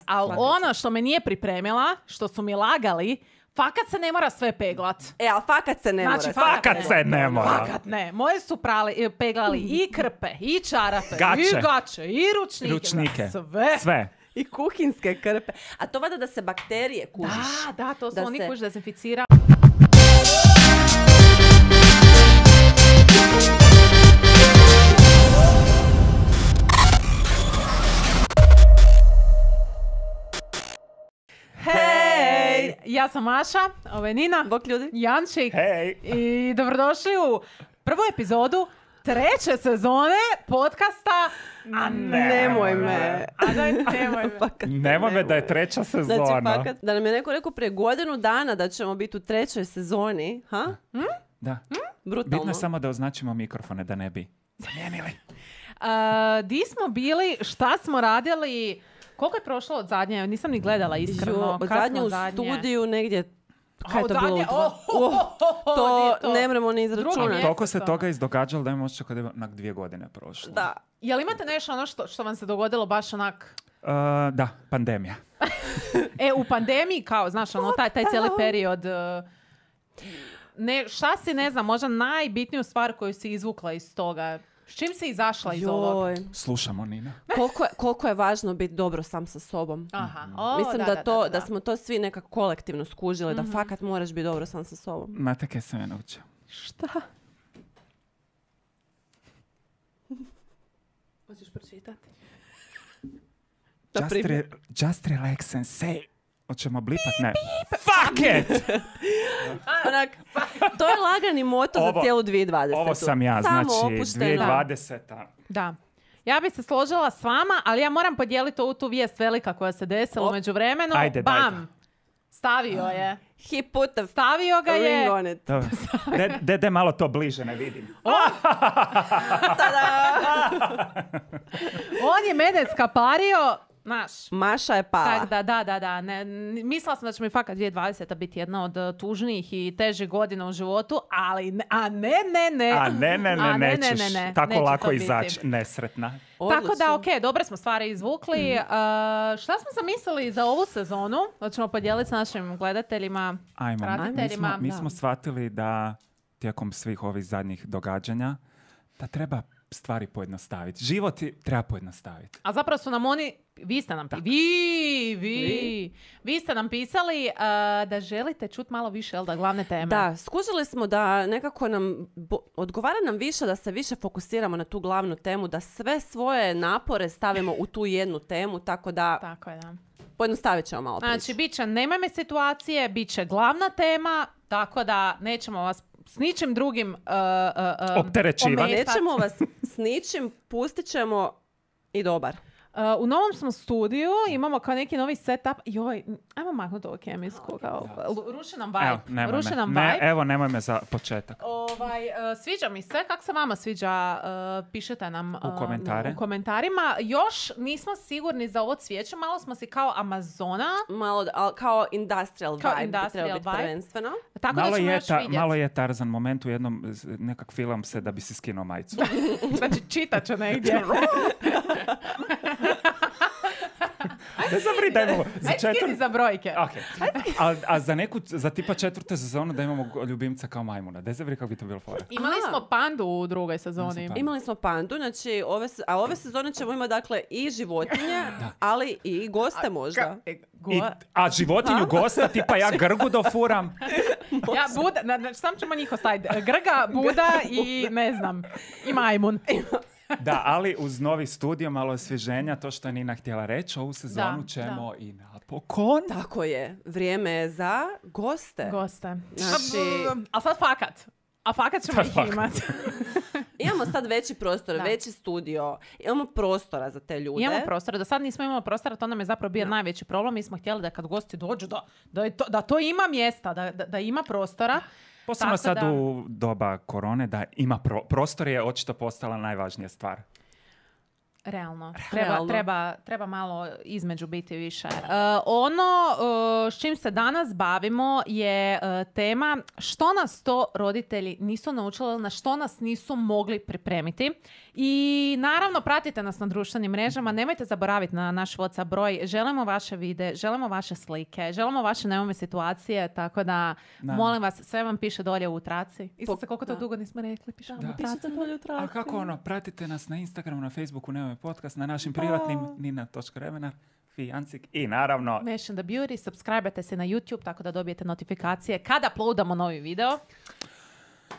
Ali ono što me nije pripremila, što su mi lagali, fakat se ne mora sve peglat. Ali fakat se ne mora. Znači, Fakat se ne mora. Fakat ne. Moje su peglali i krpe, i čarape, Gaće. i gaće, i ručnike. Sve. I kuhinske krpe. A to vada da se bakterije kužiš. Da, to su Da oni se- koji dezinficira. Hej! Ja sam Maša, ovo je Nina, Bok ljudi. Jančik Hej. i dobrodošli u prvu epizodu 3. sezone podcasta Nemoj me. A daj, nemoj me. Fakat Nemoj me da je 3. sezona. Znači, fakat, da nam je neko rekao prije godinu dana da ćemo biti u 3. sezoni, ha? Da. Brutalno. Bitno je samo da označimo mikrofone da ne bi zamijenili. Di smo bili, šta smo radili, koliko je prošlo od zadnje, nisam ni gledala iskreno. Od Kad zadnje smo u studiju negdje, kaj je od to bilo? zadnje? To nije ne mremo ni Drugo izračunati. mjesto. Toliko se toga izdogađalo da imamo osjećaj kada je onak 2 godine prošlo. Da. Jel imate nešto ono što vam se dogodilo baš onak, Da, pandemija. u pandemiji kao, znaš, ono, taj cijeli period, šta si, ne znam, možda najbitniju stvar koju si izvukla iz toga? S čim si izašla iz ovog? Joj. Slušamo, Nina. Koliko je važno biti dobro sam sa sobom. Aha. Mislim da smo to svi nekako kolektivno skužili, da fakat moraš biti dobro sam sa sobom. Znate kaj sam ja naučio? Šta? Hoćeš pročitati? Just relax and say. Hoćemo blipat? Ne. Fuck it! Onak, to je lagani moto za cijelu 2020. Ovo sam ja, Samo znači opušteno. 2020. Da. Ja bi se složila s vama, ali ja moram podijeliti ovu tu vijest velika koja se desila u međuvremenu. Ajde, Bam! dajte. Stavio je. He put the Stavio ga je. ring on it. Dobro. De malo to bliže, ne vidim. On je mene skapario, znaš. Maša je pala. Tak da. Mislila sam da će mi fakat 2020 biti jedna od tužnijih i težih godina u životu, ali Nećeš tako neće lako to biti. izaći nesretna. Tako da, ok, dobre smo stvari izvukli. Šta smo zamislili za ovu sezonu? Hoćemo podijeliti s našim gledateljima, Ajmo, pratiteljima. mi smo shvatili da tijekom svih ovih zadnjih događanja da treba stvari pojednostaviti. Život treba pojednostaviti. A zapravo su nam oni, vi ste nam vi ste nam pisali da želite čuti malo više, jel da, glavne teme. Da, skužili smo da nekako nam, odgovara nam više da se više fokusiramo na tu glavnu temu, da sve svoje napore stavimo u tu jednu temu, tako da Tako je, da. pojednostavit ćemo malo priču. Znači, bit će nemoj me situacije, bit će glavna tema, tako da nećemo vas s ničim drugim Opterećivati. ometat. Nećemo vas s ničim, pustit ćemo i dobar. U novom smo studiju, imamo kao neki novi setup. Joj, ajmo maknuti ovo kemijsko. Ruši nam Evo, vibe. Ruši nam vibe. Evo, nemoj me za početak. Sviđa mi se. Kako se vama sviđa? Pišete nam U komentarima. Još nismo sigurni za ovo cvijeće. Malo smo si kao Amazona. Malo, kao industrial Kao vibe bi industrial trebao biti vibe. prvenstveno. Tako da ćemo još vidjeti. Malo je Tarzan moment u jednom, nekak film se da bi si skinuo majicu. Znači, čitat ću negdje. Ne zavri da imamo za Ajde, skini za brojke. Okay. A za tipa 4. sezonu da imamo ljubimca kao majmuna. Ne zavri kako bi to bilo fora. Imali smo pandu u drugoj sezoni. Imali smo pandu, znači ove sezone ćemo imati dakle i životinje, ali i goste možda. A životinju gosta, tipa ja Grgu dofuram. Ja, Buda, sam ćemo njih ostaviti. Grga, Buda i ne znam, i majmun. Da, ali uz novi studio, malo osvježenja, to što je Nina htjela reći, ovu sezonu ćemo i napokon. Tako je, vrijeme je za goste. Znači, a sad fakat. A fakat ćemo ih imati. Imamo sad veći prostor, veći studio, imamo prostora za te ljude. Imamo prostora, do sad nismo imali prostora, to nam je zapravo bio najveći problem. Mi smo htjeli da kad gosti dođu, da to ima mjesta, da ima prostora. Posebno sad u doba korone, da ima prostor je očito postala najvažnija stvar. Realno. Realno. Treba malo između biti više. S čim se danas bavimo je tema što nas to roditelji nisu naučili, na što nas nisu mogli pripremiti. I naravno pratite nas na društvenim mrežama, nemojte zaboraviti na naš WhatsApp broj, želimo vaše videe, želimo vaše slike, želimo vaše neume situacije, tako da molim vas, sve vam piše dolje u traci. Isuse, koliko to dugo nismo rekli, pišemo u traci. Dolje u traci. A kako pratite nas na Instagramu, na Facebooku, Neume podcast, na našim privatnim nina.remenar, Fijancik i naravno Mention the Beauty, subscribe-ate se na YouTube tako da dobijete notifikacije kada uploadamo novi video.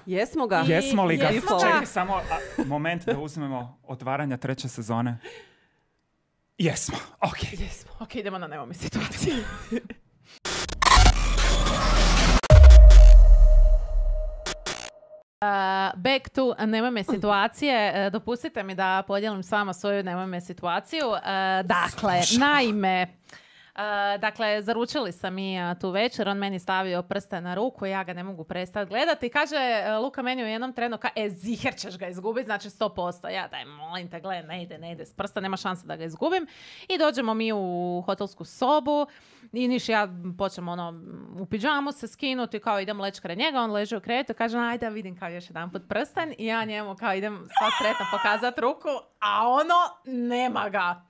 Jesmo ga? Jesmo li ga? Jesmo ga. Čekaj samo moment da uzmemo otvaranja 3. sezone. Jesmo, ok. Jesmo. Ok, idemo na neume situacije. Back to nemojme situacije. Dopustite mi da podijelim s vama svoju nemojme situaciju. Dakle, naime, zaručili sam mi tu večer, on meni stavio prste na ruku, ja ga ne mogu prestati gledati. Kaže, Luka meni u jednom trenu, ziher ćeš ga izgubiti, znači 100%. Ja daj, molim te, gledaj, ne ide s prsta, nema šanse da ga izgubim. I dođemo mi u hotelsku sobu i Niš ja počnem u pidžamu se skinuti, kao idem leći kraj njega, on leži u krevetu, kaže, ajde vidim kao još jedan put prsten i ja njemu kao idem sva sretna pokazati ruku, a nema ga.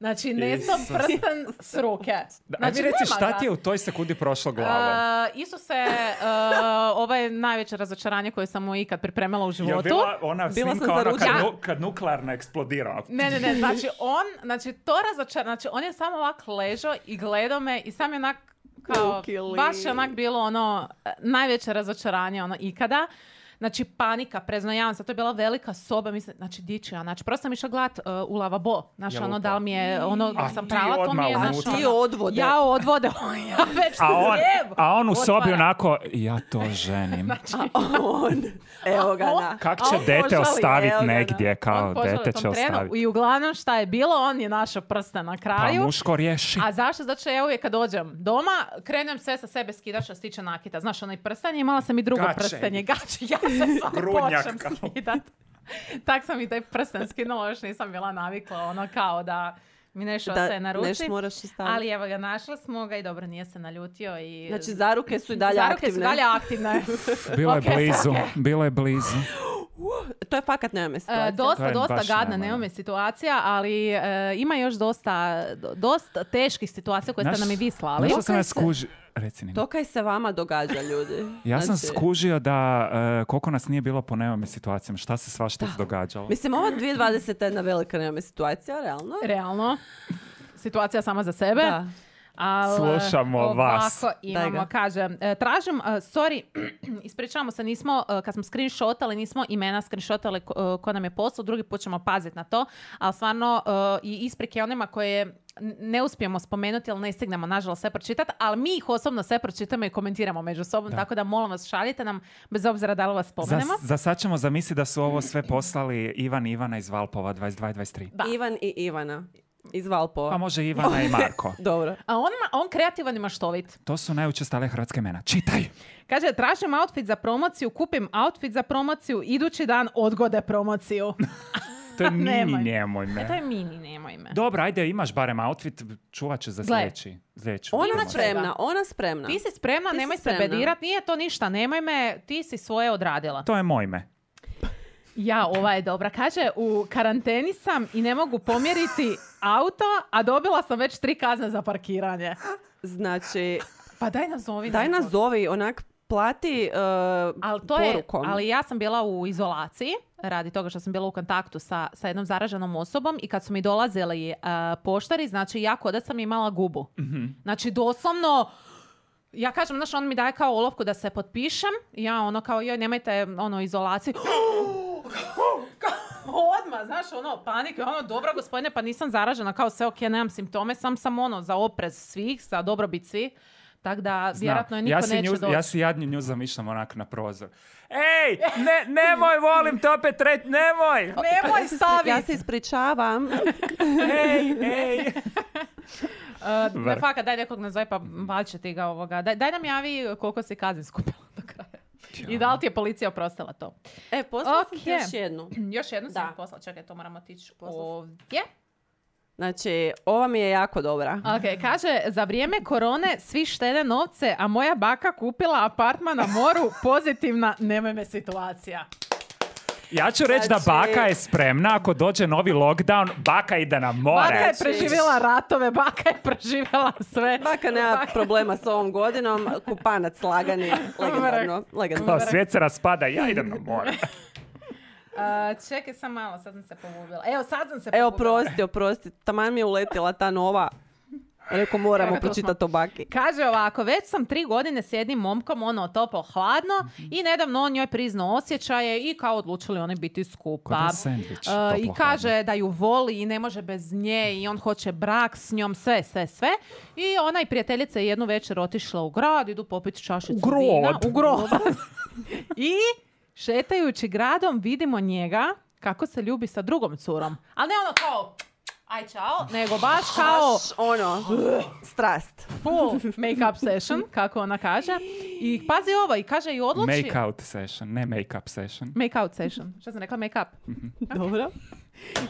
Znači, nesto prsten s ruke. Znači, reci šta ti je u toj sekundi prošlo glavom? Isuse, ovo je najveće razočaranje koje sam mu ikad pripremila u životu. Je bila ona snimka kad nuklearna eksplodira? Ne, znači to razočaranje, znači on je samo ovak ležao i gledao me i sam je onak kao, baš je onak bilo najveće razočaranje ikada. Znači, panika, preznajavam se, to je bila velika soba, mislim, znači, dići ja, znači, prosto sam išla gledat u lavabo, znači, da li mi je, sam prala, to mi je, ti odvode. Ja odvode, ja već a on u sobi onako, ja to ženim. Znači, evo ga, Kak će dete ostaviti negdje, kao dete će ostaviti. I uglavnom, šta je bilo, on je našao prste na kraju. Pa muško riješi. A zašto? Zato što ja uvijek kad dođem doma, krenem sve sa sebe skidat što se tiče nakita. Znaš, onaj prsten je, imala sam i drugo prstenje, gače, ja se počnem skidat. Tak sam i taj prsten skinula, još nisam bila navikla, kao da mi nešto ostaje na ruci. Ali evo ga, našli smo ga i dobro, nije se naljutio. I... Znači, zaruke su i dalje aktivne. Bilo je blizu. To je fakat nemome situacija. Dosta gadna nemome situacija, ali ima još dosta teških situacija koje ste nam i vi slali. Što sam ja skužio? To kaj se vama događa, ljudi. Ja sam skužio da koliko nas nije bilo po nemome situacijama, šta se svašta događalo. Mislim, ova 2020 je jedna velika nemome situacija, realno. Realno. Situacija sama za sebe. Da. Slušamo vas. Ovako imamo, kaže, tražim, ispričavamo se, nismo, kad smo screenshotali, nismo imena screenshotali ko nam je poslao, drugi put ćemo paziti na to, ali stvarno i isprike onima koje ne uspijemo spomenuti, ali ne stignemo, nažalost, sve pročitati, ali mi ih osobno sve pročitamo i komentiramo među sobom, tako da molim vas, šaljite nam, bez obzira da li vas spomenemo. Za sad ćemo zamisliti da su ovo sve poslali Ivan i Ivana iz Valpova, 22-23. Da. Ivan i Ivana. Iz Valpova. Pa može Ivana i Marko. Dobro. A on kreativan i maštovit. To su najučestalije hrvatske imena. Čitaj! Kaže, tražim outfit za promociju, kupim outfit za promociju, idući dan odgode promociju. To je mini nemoj me. To je mini nemoj me. Dobro, ajde, imaš barem outfit, čuvat ću za sljedeću. Ona spremna. Ti si spremna, nemoj se bedirat, nije to ništa, nemoj me, ti si svoje odradila. To je moj me. Ja, ova je dobra. Kaže, u karanteni sam i ne mogu pomjeriti auto, a dobila sam već 3 kazne za parkiranje. Znači... Pa daj nazovi. Daj nazovi, onak plati porukom. Ali ja sam bila u izolaciji, radi toga što sam bila u kontaktu sa jednom zaraženom osobom i kad su mi dolazili poštari, znači ja kod da sam imala gubu. Mm-hmm. Znači doslovno... Ja kažem, znaš, on mi daje kao olovku da se potpišem. Ja kao, joj, nemojte, izolaciju. Odmah, znaš, panik. Dobro, gospodine, pa nisam zaražena, kao sve ok, nemam simptome, sam za oprez svih, za dobrobit svih. Tako da, vjerojatno je niko neće doći. Ja si jadnju nju zamišljam onak na prozor. Ej, nemoj, volim te opet reći, nemoj! Nemoj staviti! Ja se ispričavam. Ej! Fakat, daj nekog nazove, pa valjče ti ga ovoga. Daj nam javi koliko si kazni skupila do kraja. I da li ti je policija oprostila to? Poslala sam ti Ok. još jednu. Još jednu sam Da. poslala. Čekaj, to moramo otići Poslala sam. ovdje. Znači, ova mi je jako dobra. Ok, kaže, za vrijeme korone svi štede novce, a moja baka kupila apartman na moru, pozitivna, nemoj me situacija. Ja ću reći da Znači- baka je spremna, ako dođe novi lockdown, baka ide na more. Baka je Znači- preživjela ratove, baka je preživjela sve. Baka nema problema s ovom godinom, kupanac lagani, legendarno. Kao svijet se raspada, ja idem na more. Čekaj sam malo, sad sam se pogubila. Evo, sad sam se Evo, pogubila. oprosti, taman mi je uletila ta nova. Rekao, moramo Evo, tu pročitati o baki. Kaže ovako, već sam 3 godine s jednim momkom, ono toplo hladno i nedavno on njoj priznao osjećaje i kao odlučili oni biti skupa. Ko da je sendvič, I toplo kaže da ju voli i ne može bez nje i on hoće brak s njom, sve. I ona i prijateljica je jednu večer otišla u grad, idu popiti čašicu U grad. vina. U grad. I šetajući gradom vidimo njega kako se ljubi sa drugom curom. Ali ne ono kao aj čao, nego baš kao Strast. full make-up session, kako ona kaže. I pazi ovo, i kaže i odluči... Make-out session, ne make-up session. Make-out session. Što sam rekla? Make-up. Dobro.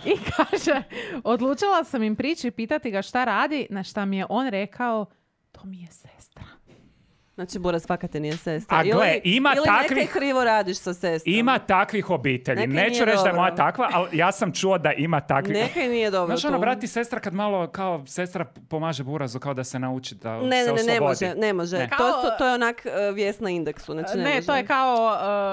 I kaže, odlučila sam im prići i pitati ga šta radi, na šta mi je on rekao, to mi je sestra. Znači, Bora, svaka te nije sestra. A gle, ima ili takvih- neke krivo radiš sa sestrom. Ima takvih obitelji. Neka Neću nije reći da je moja dobro. takva, ali ja sam čuo da ima takvih. Neka nije dobro Znaš, ono, tu. brat i sestra kad malo kao sestra pomaže burazu kao da se nauči da se Ne oslobodi. može. Ne. To je onak vijest na indeksu. Znači, Ne, može. to je kao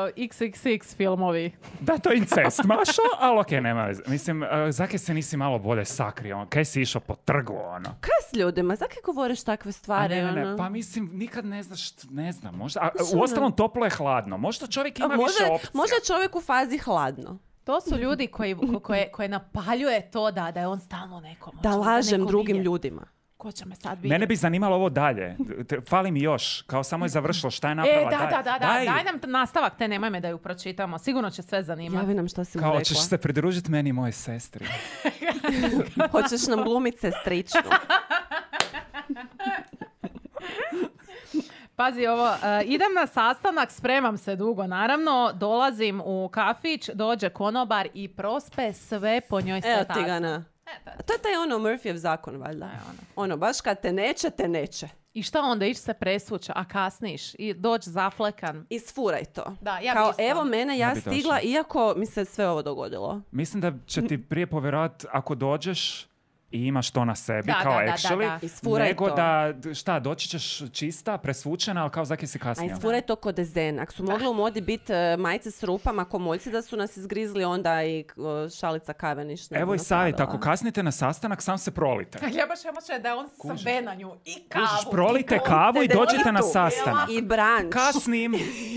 XXX filmovi. Da, to je incest, Mašo, ali okej, nema veze. Mislim, zakaj se nisi malo bolje sakrio? Kaj si išao po trgu, ono? Kaj s ljudima? Zakaj govoriš takve A stvari? ne, ono? pa mislim, nikad ne znaš, ne znam, možda, uostalom toplo je hladno, možda čovjek ima više opcija. Može čovjek u fazi hladno. To su ljudi koje napaljuje to da je on stalno nekom. Da lažem neko drugim vidjet. ljudima. Ko će me sad vidjeti? Mene bi zanimalo ovo dalje. Fali mi još, kao samo je završilo, šta je napravila? Daj nam nastavak, te nemoj me da ju pročitamo. Sigurno će sve zanimati. Javi nam šta si mu Kao, rekla. ćeš se pridružiti meni i moje sestri. Hoćeš nam glumit sestričnu. Pazi ovo, idem na sastanak, spremam se dugo, naravno, dolazim u kafić, dođe konobar i prospe sve po njoj Evo sve ti ga na. To je taj Murphyjev zakon, valjda. Ono, baš kad te neće. I šta onda, ići se presvuća, a kasniš i doći zaflekan. Isfuraj to. Da, ja bi Kao, isto. evo mene, ja Ja bi stigla, došla. iako mi se sve ovo dogodilo. Mislim da će ti prije povjerovati ako dođeš i imaš to na sebi, Da, kao da, actually, Isfuraj nego to. da, šta, doći ćeš čista, presvučena, ali kao zaki si A kasnije. isfuraj to kod dezen. Ako su mogli u modi biti majice s rupama, komoljci da su nas izgrizli, onda i šalica kave ništa. Evo i savjet, ako kasnite na sastanak, sam se prolite. Ja baš emoće da je on sve na nju i kavu. Kužiš, prolite i kavu i dođite na Tu. sastanak. I branč. Kasnim.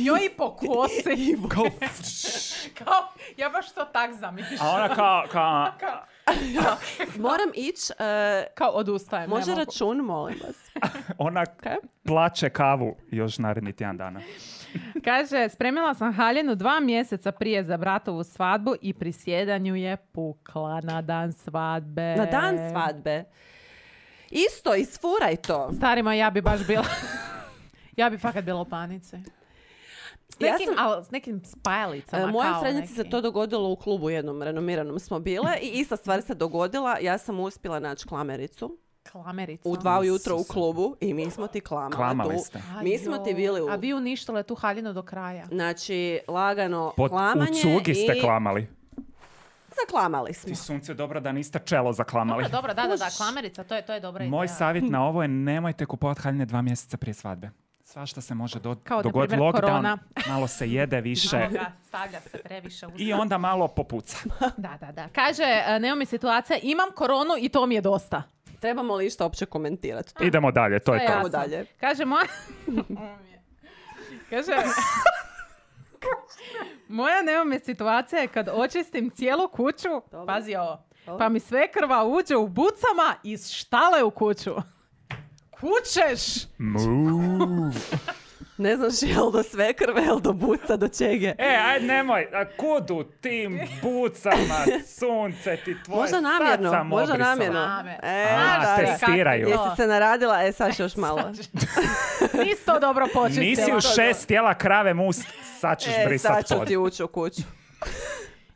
Njoj i po kosi. Kao, Kao, ja baš to tak zamišljam. a ona kao, Moram ići. Kao odustajem. Može ne mogu. račun, molim vas. ona plače kavu još naredni tjedan dana. Kaže, spremila sam haljinu 2 mjeseca prije za bratovu svadbu i pri sjedanju je pukla na dan svadbe. Na dan svadbe. Isto, isfuraj to. Starima, ja bi baš bila... ja bi fakat bila u panici. S nekim spajalicama. Mojoj kao srednjici se neki. to dogodilo u klubu jednom renomiranom smo bile i ista stvar se dogodila. Ja sam uspjela naći klamericu Klamerica. u 2 ujutro u klubu i mi smo ti Klamali tu. ste. Mi smo ti bili u... A vi uništile tu haljinu do kraja. Znači, lagano U klamanje cugi ste i klamali. zaklamali smo. Ti sunce, dobro da niste čelo zaklamali. Dobro, da, klamerica, to je dobra ideja. Moj savjet na ovo je nemojte kupovati haljine 2 mjeseca prije svadbe. Svašta se može Kao, na dogoditi, primjer, lockdown, korona. malo se jede više Stavlja se previše u i onda malo popuca. Da. Kaže, nemoj mi situacija, imam koronu i to mi je dosta. Trebamo li išta uopće komentirati? Idemo dalje, to je to. Ajmo dalje. Kaže, Kaže... Moja nemoj situacija je kad očistim cijelu kuću, pazi ovo, pa mi svekrva uđe u bucama iz štale u kuću. Kućeš! Mu. Ne znaš jel do sve krve, jel do buca, do čege. Aj nemoj, a kud u tim bucama, sunce ti tvoje, Možda namjerno, sad sam možda obrisala. namjerno. Testiraju. Jesi se naradila? Sad još malo. Nisi to dobro počistila. Nisi u 6 tijela krave must, sad ćeš brisat Sad ću pod. ti ući u kuću.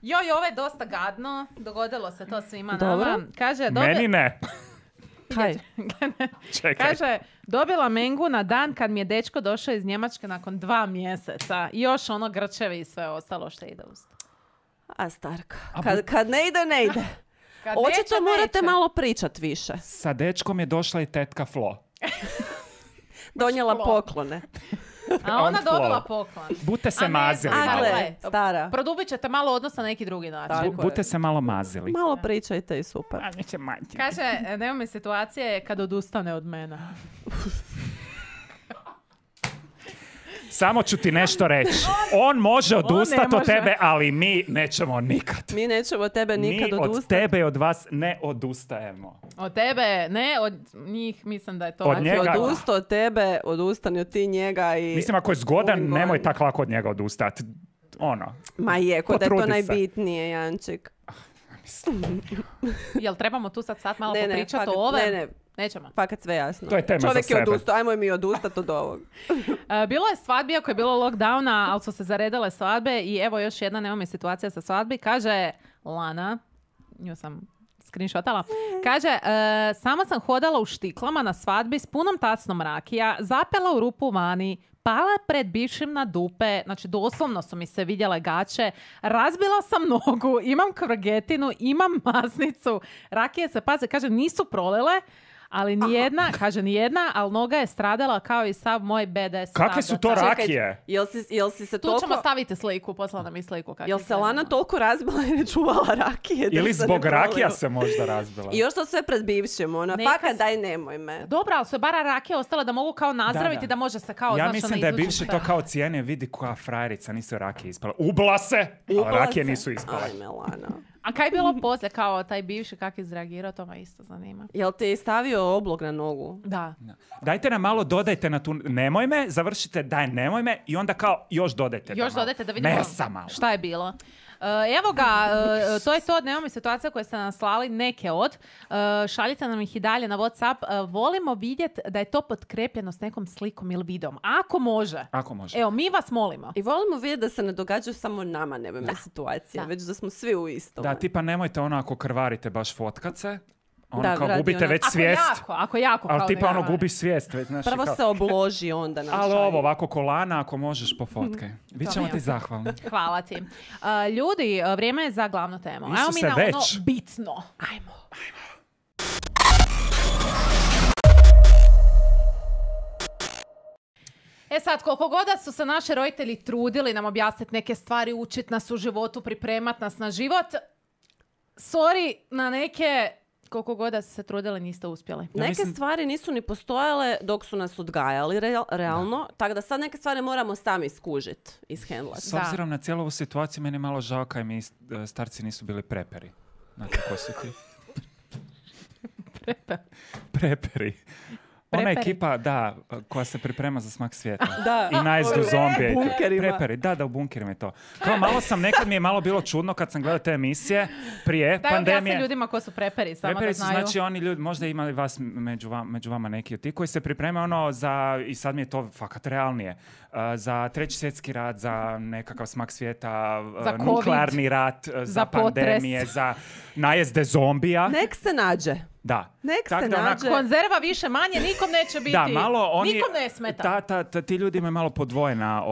Joj, ovo je dosta gadno. Dogodilo se to svima Dobro. nama. Kaže, Meni ne. Kaj? Čekaj. Kaže, dobila mengu na dan kad mi je dečko došao iz Njemačke nakon 2 mjeseca. I još ono grčevi i sve ostalo što ide uz to. A Starka, A kad ne ide, ne ide. Kad Očito neće, morate neće. malo pričat više. Sa dečkom je došla i tetka Flo. Donijela Flo. poklone. A ona On dobila flow. poklon. Bute se A ne mazili znam, A malo. gle. gle, stara. Produbit ćete malo odnos na neki drugi način. Tako je. Bute se malo mazili. Malo pričajte i super. A neće manjiti. Kaže, nema mi situacije kad odustane od mene. Samo ću ti nešto reći. On može odustati ne od može. tebe, ali mi nećemo nikad. Mi nećemo od tebe nikad Mi od odustati. tebe i od vas ne odustajemo. Od tebe, ne, od njih mislim da je to. Od ovako. njega. Odustao od tebe, odustani od ti njega i... Mislim, ako je zgodan, Moving nemoj on. tako lako od njega odustati. Ono. Ma je, ko da je to Potrudi se. najbitnije, Janček. Jel trebamo tu sad malo Ne, ne, popričati fakat- o ove? ne. Nećemo. Fakat sve jasno. To je tema za Čovjek je sebe. odustao, ajmo i mi odustati od ovog. Bilo je svadbi, ako je bilo lockdowna, ali su se zaredale svadbe i evo još jedna, nemamo situacija sa svadbi. Kaže Lana, nju sam screenshotala, kaže, sama sam hodala u štiklama na svadbi s punom tacnom rakija, zapela u rupu vani, pala pred bivšim na dupe, znači doslovno su mi se vidjele gaće, razbila sam nogu, imam kvrgetinu, imam masnicu, rakije se, paze, kaže, nisu prolile, ali nijedna, kaže nijedna, ali noga je stradala kao i sav moj BDS. Kakve su to rakije? Jel si se Tu ćemo toliko... staviti sliku, poslala nam i sliku. Jel se Lana toliko razbila i ne čuvala rakije? da Ili se ne zbog proliju? rakija se možda razbila. I još to sve pred bivšim, ona, Neka fakat se- daj nemoj me. Dobro, ali su je bara rakije ostale da mogu kao nazdraviti, da može se kao, Ja znaš, mislim ono, da je izvući bivši sve. to kao cijene, vidi koja frajerica, nisu rakije ispala. Ubla se, ali Ubla rakije se. nisu ispale. Ajme, Lana. A kaj je bilo poslije, kao taj bivši, kak je izreagirao, to me isto zanima. Jel ti je stavio oblog na nogu? Da. Dajte nam malo, dodajte na tu nemoj me, završite daj nemoj me i onda kao još dodajte. Još dodajte da vidimo Mesa malo. šta je bilo. Evo ga, to je to, nemamo situacija koje ste nam slali, neke od. Šaljite nam ih i dalje na WhatsApp. Volimo vidjeti da je to potkrepljeno s nekom slikom ili videom. Ako može. Ako može. Evo, mi vas molimo. I volimo vidjeti da se ne događaju samo nama nevojne situacije, Da. već da smo svi u istom. Da, tipa nemojte ono ako krvarite baš fotkat se, ono Da, kao radi gubite ona- već Ako svijest. ako jako. Ali kao tipa da ono ja- gubiš svijest. Već, znaš, Prvo kao, se obloži, onda nam ali šalje. ovo ovako kolana ako možeš po fotke. Vi ćemo ti zahvalni. Hvala ti. Ljudi, vrijeme je za glavnu temu. Ajmo mi Isuse, na već. ono bitno. Ajmo. E sad, koliko god da su se naši roditelji trudili nam objasniti neke stvari, učiti nas u životu, pripremat nas na život, sorry, na neke, koliko god da su se trudili, niste uspjeli. Ja Neke mislim- stvari nisu ni postojale dok su nas odgajali realno, tako da sad neke stvari moramo sami skužit, ishendlat. S obzirom na cijelu ovu situaciju, meni je malo žao kaj mi starci nisu bili preperi. Znate ko su ti? Preperi. Ona Preperi. ekipa, da, koja se priprema za smak svijeta. Da. I najezdu U zombije. bunkerima. Preperi, da, u bunkerima je to. Kao malo sam, nekad mi je malo bilo čudno kad sam gledao te emisije prije Daj pandemije. objasni ljudima ko su preperi, samo Preperi da su znaju. znači oni ljudi, možda imali vas među vama neki od ti koji se pripremaju ono za, i sad mi je to fakat realnije, za treći svjetski rat, za nekakav smak svijeta, Za COVID, nuklearni rat, za potres. pandemije, za najezde zombija. Nek se nađe. Da. Nek Tak se da nađe. Konzerva više manje, nikom neće biti. Da, malo oni... Nikom ne smeta. Ti ljudi imaju malo podvojena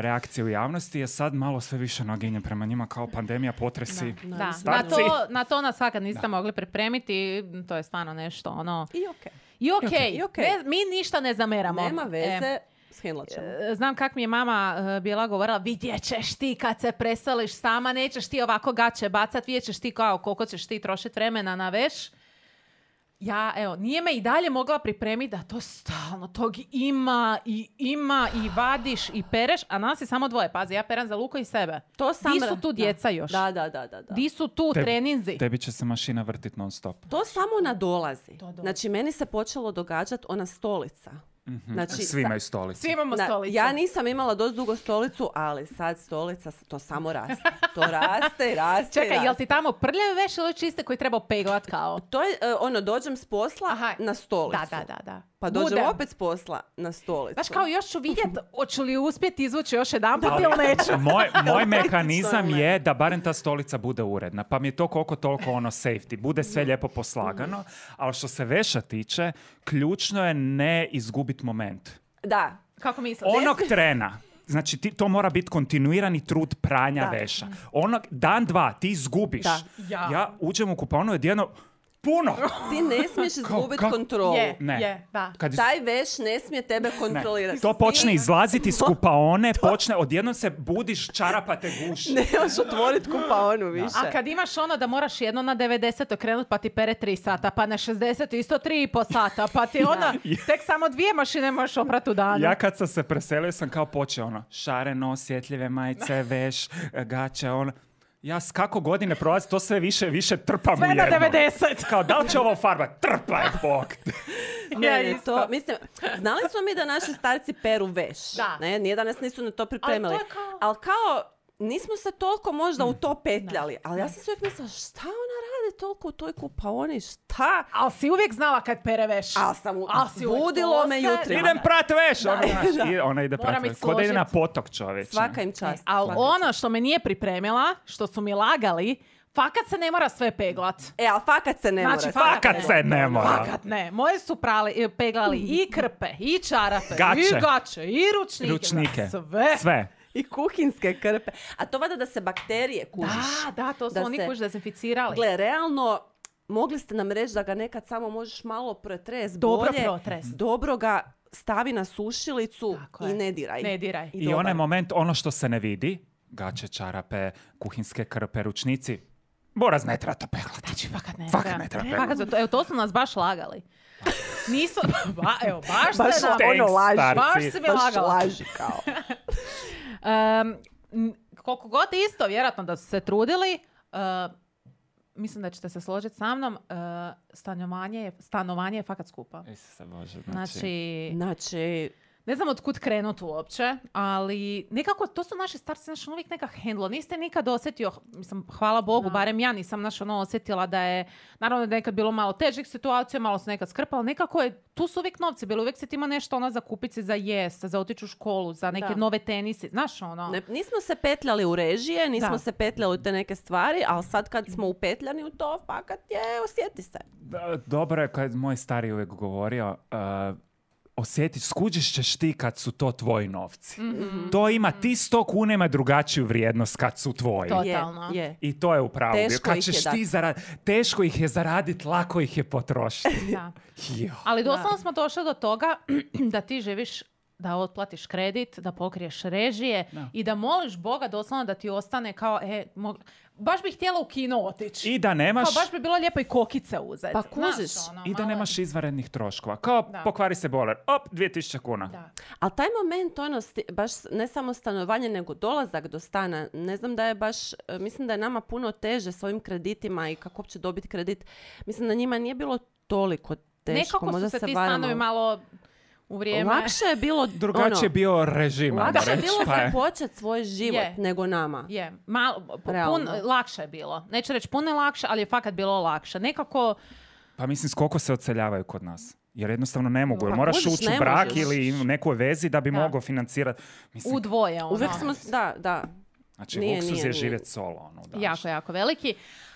reakcija u javnosti, je sad malo sve više naginje prema njima kao pandemija, potresi. Da, Starci. na to nas svakad niste mogli pripremiti, to je stvarno nešto ono... I okej. I okej, I okej. mi ništa ne zameramo. Nema veze, shendlat ćemo. Znam kak mi je mama bila govorila, vidjet ćeš ti kad se preseliš sama, nećeš ti ovako gaće bacat, vidjet ćeš ti kao koliko ćeš ti trošiti vremena na veš. Ja, evo, nije me i dalje mogla pripremiti da to stalno tog ima i vadiš i pereš, a nas je samo dvoje. Pazi, ja perem za Luko i sebe. To sam Di su tu djeca još? Da. Di su tu treninzi? Tebi će se mašina vrtit non stop. To samo nadolazi. dolazi. Znači, meni se počelo događati ona stolica. Znači, Svi imaju stolicu. Svi imamo stolicu. ja nisam imala dosta dugo stolicu, ali sad stolica, to samo raste. To raste i raste. Čekaj, jel ti tamo prljave veš ili čiste koji treba peglat kao? To je, dođem s posla na stolicu. Da. Pa dođem Budem. opet s posla na stolicu. Znaš, kao još ću vidjeti, hoću li uspjeti izvući još jedan put ili neću. Moj mehanizam je da barem ta stolica bude uredna. Pa mi je to koliko toliko safety. Bude sve lijepo poslagano. Ali što se veša tiče, ključno je ne izgubiti moment. Da. Kako misliš? Onog trena. Znači, to mora biti kontinuirani trud pranja veša. Onog dan, dva, ti izgubiš. Da. Ja uđem u kupaonu odjedno, puno! Ti ne smiješ izgubiti kontrolu. Da. Taj veš ne smije tebe kontrolirati. To počne izlaziti iz kupaone, odjednom se budiš, čarapa te guši. Ne možeš otvoriti kupaonu više. A kad imaš da moraš jedno na 90 okrenut pa ti pere 3 sata, pa na 60 isto 3,5 sata, pa ti tek samo 2 mašine možeš oprat u danu. Ja kad sam se preselio sam kao počeo šareno, osjetljive majice, veš, gaće, ja kako godine prolazi, to sve više trpam sve u jedno. Sve na 90. Kao, da li će ovo farba? Trpaj, bok! Znali smo mi da naši starci peru veš. Da. Ne? Nije da nas nisu na to pripremili. Ali kao nismo se toliko možda u to petljali. Ali ja sam se uvijek mislila, šta ona radi toliko u toj kupaoni? Šta? Ali si uvijek znala kad pere veš. Budilo me jutro. Idem prat veš! Ona ide prat veš. Ko da ide na potok, čovječ. Svaka im čast. Ali ono što me nije pripremila, što su mi lagali, fakat se ne mora sve peglat. Ali fakat se ne mora. Fakat se ne mora. Fakat ne. Moje su peglali i krpe, i čarape, i gaće, i ručnike. Sve. I kuhinske krpe. A to vada da se bakterije kužiš. Da, to su oni kuž dezinficirali. Gle, realno, mogli ste nam reći da ga nekad samo možeš malo protres bolje. Dobro ga stavi na sušilicu i ne diraj. I onaj moment, ono što se ne vidi, gaće, čarape, kuhinske krpe, ručnici, Boraz ne treba to peglati. Znači, fakat ne treba peglati. Evo, to su nas baš lagali. Nisu, baš se mi lagala. Laži kao. Koliko god isto, vjerojatno da su se trudili, mislim da ćete se složiti sa mnom, stanovanje je fakat skupa. Isuse Bože, znači... Ne znam od kud krenut uopće, ali nekako to su naši starci uvijek neka hendlo. Niste nikad osjetio, mislim, hvala Bogu, barem ja nisam osjetila da je, naravno da je nekad bilo malo težih situacija, malo se nekad skrpalo, nekako je, tu su uvijek novci bili, uvijek se ti ima nešto za kupiti za jest, za otići u školu, za neke nove tenisi, znaš nismo se petljali u režije, nismo se petljali u te neke stvari, ali sad kad smo upetljani u to, fakat je, osjeti se. Dobro je kad moj stari uvijek govorio, osjetiš, skuđiš ćeš ti kad su to tvoji novci. Mm-hmm. To ima, ti 100 kuna ima drugačiju vrijednost kad su tvoji. Totalno. I to je upravo. Teško ih je zaraditi, lako ih je potrošiti. Ali doslovno smo došli do toga da ti živiš, da otplatiš kredit, da pokriješ režije i da moliš Boga doslovno da ti ostane kao, baš bih htjela u kino otići. I da nemaš... Kao baš bi bilo lijepo i kokice uzeti. Pa kužiš. I da nemaš izvanrednih troškova. Kao pokvari se boler. 2000 kuna. Da. Ali taj moment, baš ne samo stanovanje, nego dolazak do stana. Ne znam da je baš, mislim da je nama puno teže s ovim kreditima i kako uopće dobiti kredit. Mislim da njima nije bilo toliko teško. Nekako su se ti stanovi malo... u vrijeme. Lakše je bilo... Drugačije bio režim. Lakše je bilo započeti svoj život nego nama. Lakše je bilo. Neću reći puno lakše, ali je fakat bilo lakše. Nekako... Pa mislim, koliko se odseljavaju kod nas? Jer jednostavno ne mogu. Moraš ući u brak ili u nekoj vezi da bi mogao financirati. Mislim, u dvoje. Uvijek smo... Da. Znači, luksuz je živjeti solo. Jako veliki.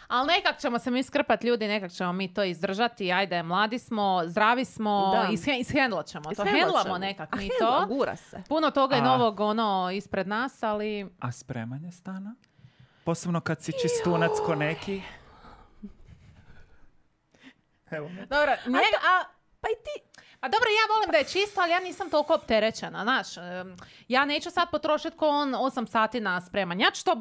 Ali nekak ćemo se mi skrpati ljudi, nekak ćemo mi to izdržati. Ajde, mladi smo, zdravi smo, ishendlat ćemo to. Hendlamo nekak mi to. Gura se. Puno toga je novog ispred nas, ali... A spremanje stana? Posebno kad si čistunac ko neki? Evo. Dobro, pa i ti... A dobro, ja volim da je čisto, ali ja nisam toliko opterećena, znaš. Ja neću sad potrošiti ko on 8 sati na spremanje. Ja ću to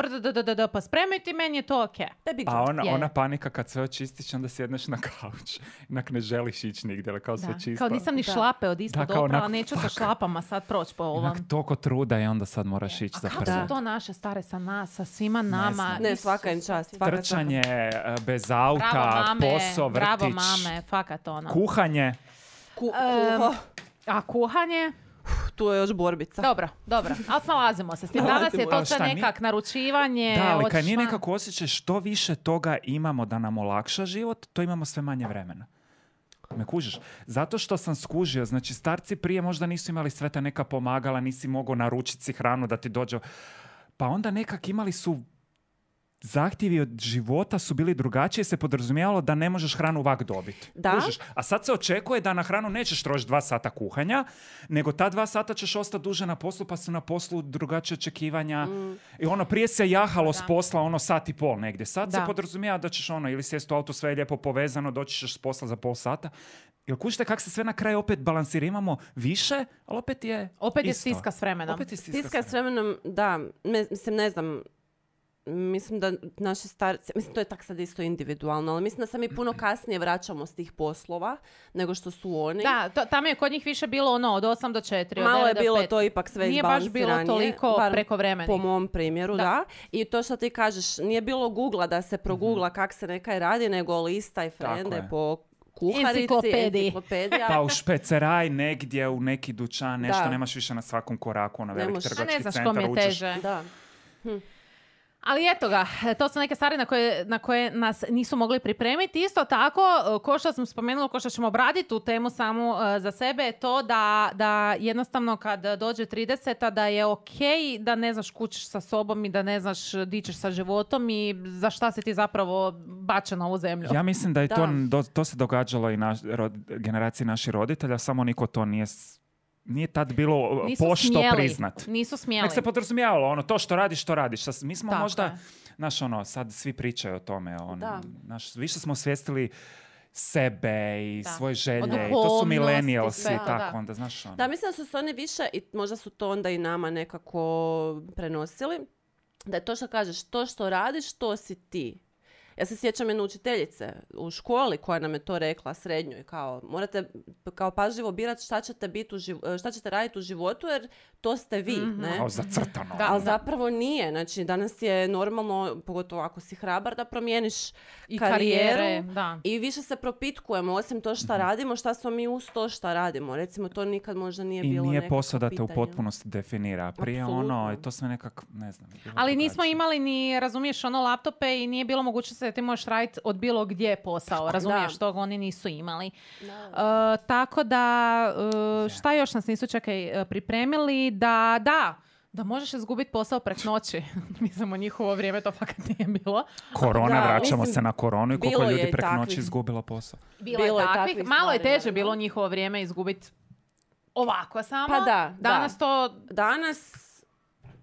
pa spremiti, meni je to okej. A ona panika kad sve očistiš, onda sjedneš na kauč. Inak ne želiš ići nigdje, kao sve čisto. Kao nisam ni šlape od ispod oprala, neću sa šlapama sad proći po ovom. Inak toliko truda i onda sad moraš ići za prvo. A kako su to naše stare sa nas, sa svima nama? Ne, svaka im čast. Trčanje, bez auta, posao, vrtić. Bravo mame, fakat ono. Kuhanje. A kuhanje? Tu je još borbica. Dobro, ali snalazimo se s tim. Danas je to Ali sve šta, nekak naručivanje. Da, ali kad nije otišla- nekako osjećaj što više toga imamo da nam olakša život, to imamo sve manje vremena. Me kužiš? Zato što sam skužio, znači starci prije možda nisu imali sve ta neka pomagala, nisi mogao naručiti si hranu da ti dođe. Pa onda nekak imali su zahtjevi od života su bili drugačije, se podrazumijevalo da ne možeš hranu ovak dobiti. Da. Kužiš? A sad se očekuje da na hranu nećeš trošiti 2 sata kuhanja, nego ta 2 sata ćeš ostati duže na poslu, pa su na poslu drugačije očekivanja. I ono, prije se jahalo s posla 1,5 sata negdje. Sad se Da. podrazumijeva da ćeš ili sjesti u auto, sve je lijepo povezano, doći ćeš s posla za pol sata. Jel kužite kako se sve na kraju opet balansira? Imamo više, ali opet je isto. stiska s vremenom. Opet je Stiska s vremenom, da, mislim, ne znam, mislim da naši starci, mislim to je tak sad isto individualno, ali mislim da se mi puno kasnije vraćamo s tih poslova nego što su oni. Da, tamo je kod njih više bilo od 8 do 4, od Malo 9 je do bilo 5. to ipak sve Nije baš izbalansiranije. bilo toliko bar prekovremeni. Po mom primjeru, Da. da. I to što ti kažeš, nije bilo Googla da se progugla kak se nekaj radi, nego lista i frende je. po kuharici, enciklopedija. Pa u špeceraj negdje, u neki dućan, nešto Da. nemaš više na svakom koraku, na Ne veliki možeš. A trgovački ne znaš centar kom je uđeš. teže. Da. Ali eto ga, to su neke stvari na koje nas nisu mogli pripremiti. Isto tako, ko što sam spomenula, ko što ćemo obraditi tu temu samu za sebe, je to da jednostavno kad dođe 30-a da je okej da ne znaš kućiš sa sobom i da ne znaš di ćeš sa životom i za šta si ti zapravo bačen na ovu zemlju. Ja mislim da je Da. to se događalo i generaciji naših roditelja, samo niko to nije tad bilo Nisu pošto smjeli. priznat. Nisu smjeli. Nek se podrazumijevalo, to što radiš, to radiš. Mi smo Tako možda, je. sad svi pričaju o tome. Da. Više smo svijestili sebe i Da. svoje O želje. I to su duhovnosti, millennialsi sve, i tako. da. Onda, znaš, Da, mislim da su se oni više, i možda su to onda i nama nekako prenosili, da je to što kažeš, to što radiš, to si ti. Ja se sjećam jedne učiteljice u školi koja nam je to rekla, srednjoj, kao morate kao pažljivo birati šta ćete raditi u životu jer to ste vi, ne? kao zacrtano. Da. Ali zapravo nije. Znači, danas je normalno, pogotovo ako si hrabar, da promijeniš I karijeru. karijere, da. I više se propitkujemo, osim to šta radimo, šta smo mi uz to šta radimo. Recimo, to nikad možda nije I bilo nije nekako posao da te u pitanje. potpunosti definira. Prije Apsolutno. i to sve nekak, ne znam. bilo Ali nismo drugačije. imali ni, razumiješ, laptope i nije bilo mogućnosti da ti možeš raditi od bilo gdje posao. Razumiješ, Da. toga oni nisu imali. Da. Tako da, šta još nas nisu pripremili? Da možeš izgubiti posao prek noći. Mislim, u njihovo vrijeme to fakat nije bilo. Korona, Da, vraćamo mislim, se na koronu i koliko bilo je ljudi i preko takvih. noći izgubilo posao. Bilo je takvih. Malo je stvari, teže bilo u njihovo vrijeme izgubiti ovako samo. Pa da, Danas to... Danas,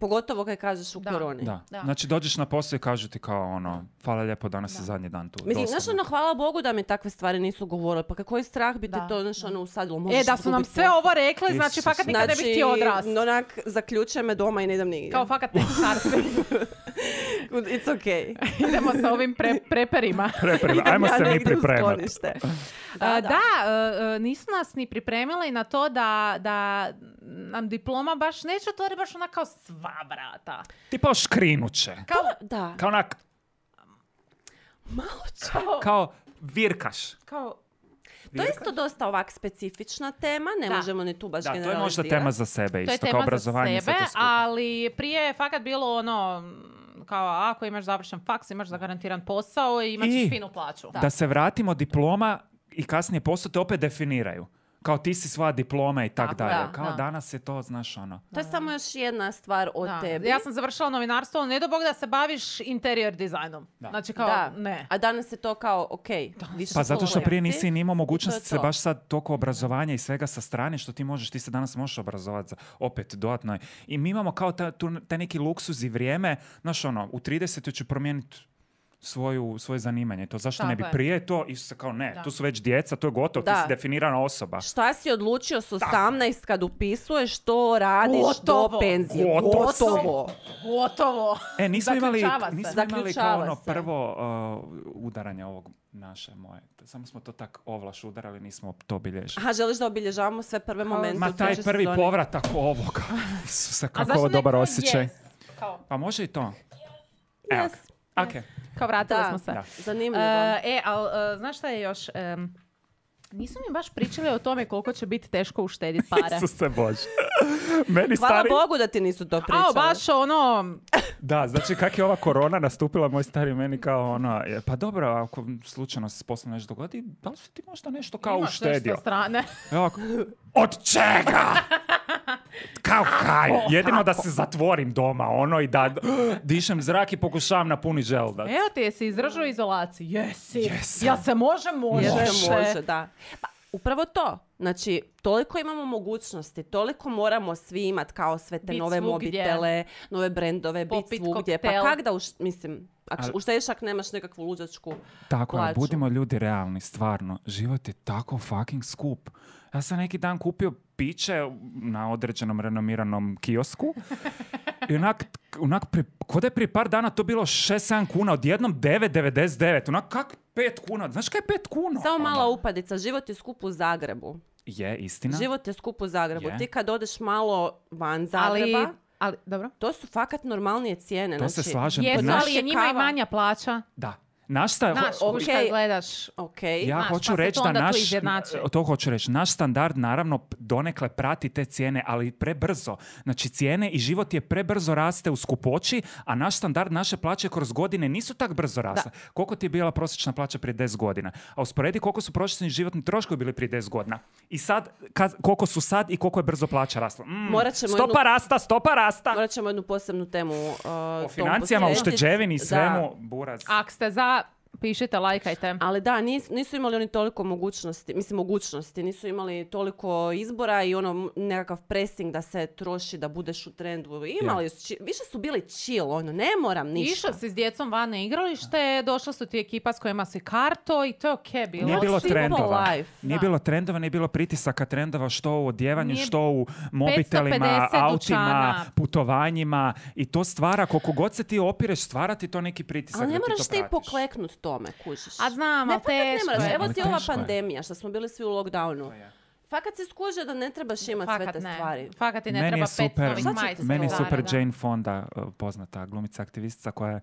pogotovo kad kažeš u Da. koroni. Da. Da. Znači dođeš na posao i kažu ti kao hvala lijepo, danas je zadnji dan tu. Mislim, Dosadno. znaš, hvala Bogu da mi takve stvari nisu govorili. Pa kako je strah bi te Da, to, znaš, usadilo. Možeš da su nam izgubiti sve posao. ovo rekli, znači Isuse. fakat nikad ne bih htio odrast. onak, zaključujem me doma i ne idem nigdje. Kao fakat ne starci. It's okay. Idemo sa ovim preperima. Ajmo Ja se mi negdje u pripremati. sklonište. Nisu nas ni pripremili na to da nam diploma baš neće otvori baš ona kao sva vrata. Tipa škrinuće. Da. Kao onak, Malo će. kao virkaš. Kao, To je isto dosta ovak specifična tema, ne Da. možemo ni tu baš Da, to je generalizirati. možda tema za sebe to je isto, kao tema za obrazovanje. sebe, sve to skupa. ali prije je fakat bilo ono, kao ako imaš završen faks, imaš zagarantiran posao i imat ćeš I finu plaću. Da se vratimo, diploma i kasnije posao te opet definiraju. Kao ti si svoja diploma i tak Tako, dalje. da, Kao da. danas je to, znaš, ono. To je samo još jedna stvar o Da. tebi. Ja sam završila novinarstvo, ne do Bog da se baviš interior dizajnom. Da. Znači kao, Da. ne. A danas je to kao, ok, više Pa zato što slobodan prije si. nisi ni imao mogućnosti I to je se to. baš sad toliko obrazovanja i svega sa strane što ti se danas možeš obrazovati za opet dodatno. I mi imamo kao taj neki luksuz i vrijeme, znaš ono, u 30 ću promijeniti svoje zanimanje. To zašto Tako ne bi je. prije to? Isuse, kao ne, Da. tu su već djeca, to je gotovo, ti Da. si definirana osoba. Šta si odlučio s 18 kad upisuješ, to radiš Gotovo. do penzije. Gotovo. Gotovo. Nismo imali Zaključava se. kao Zaključava ono se. prvo udaranje ovog naše moje. Samo smo to tak ovlaš udarali, nismo to bilježili. Aha, želiš da obilježavamo sve prve momente Ma u taj trećoj prvi sezoni? povratak ovoga. Isuse, A kako zašto ovo ne dobar kao osjećaj. yes? Kao, Pa može i to. Evo. Yes. Ok. kao vratili Da. smo se. Da. Zanimljivo. Ali znaš šta je još? Nisu mi baš pričali o tome koliko će biti teško uštediti pare. Isuse Bože. Meni Hvala stari... Bogu da ti nisu to pričali. A, baš ono... Da, znači kak je ova korona nastupila, moj stari meni kao ono, pa dobro, ako slučajno se s poslom nešto dogodi, da li si ti možda nešto kao Imaš uštedio? nešto sa strane. Evo, od čega? Kao kaj? Jedino da se zatvorim doma, ono, i da dišem zrak i pokušavam napuniti želudac. Evo ti, jesi izdržao izolaciji? Jesi. Jesam. Ja se može. Može, da. Pa, upravo to. Znači, toliko imamo mogućnosti, toliko moramo svi imati kao sve te Bit nove svugdje. mobitele, nove brendove, Popit bit svugdje. koktel. Pa kak da, mislim, ako uštediš ako nemaš nekakvu luđačku Tako je, plaću. budimo ljudi realni, stvarno. Život je tako fucking skup. Ja sam neki dan kupio piće na određenom renomiranom kiosku i onak ko da je prije par dana to bilo 6-7 kuna, odjednom 9,99. Onak kak 5 kuna? Znaš kaj je 5 kuna? Samo mala upadica, život je skup u Zagrebu. Je, istina. Život je skup u Zagrebu. Je. Ti kad odeš malo van Zagreba, Ali, dobro. to su fakat normalnije cijene. To znači, se slažem. Jesu, Naš ali je njima i kava. manja plaća. Da. Naš sta... Znaš, ok. kad gledaš... Ok. Ja Znaš, hoću pa se reći to da onda tu naš, izjednači. to hoću reći, naš standard naravno donekle prati te cijene, ali prebrzo. Znači cijene i život je prebrzo raste u skupoći, a naš standard, naše plaće kroz godine nisu tak brzo rasle. Koliko ti je bila prosječna plaća prije 10 godina? A usporedi koliko su prosječni životni troškovi bili prije 10 godina. I sad, koliko su sad i koliko je brzo plaća rasla. Stopa rasta! Morat ćemo jednu posebnu temu O financijama, posvetiti. ušteđevini i Da. svemu, buraz. Ako ste za, pišite, lajkajte. Ali da, nisu imali oni toliko mogućnosti, nisu imali toliko izbora i ono nekakav pressing da se troši, da budeš u trendu. Imali su, više su bili chill, ono, ne moram ništa. Išao si s djecom van na igralište, došla su ti ekipa s kojima si karto i to je okej bilo. Nije bilo Simple trendova. life, Nije da. bilo trendova, nije bilo pritisaka trendova što u odjevanju, Nije što u mobitelima, 550 autima, dućana. putovanjima i to stvara, koliko god se ti opireš, stvara ti to neki pritisak. Ali ne da ti moraš to ti pratiš. pokleknut tome, kužiš. A znam, Ne, ali fakat ne teško moraš. je. Evo Ali ti ova teško je. pandemija, što smo bili svi u lockdownu. Fakat se skuže da ne trebaš imati sve Fakat te ne. stvari. Fakat ti ne Meni treba je 5 super, novih majica. meni je Da, super da. Jane Fonda, poznata glumica aktivistica, koja je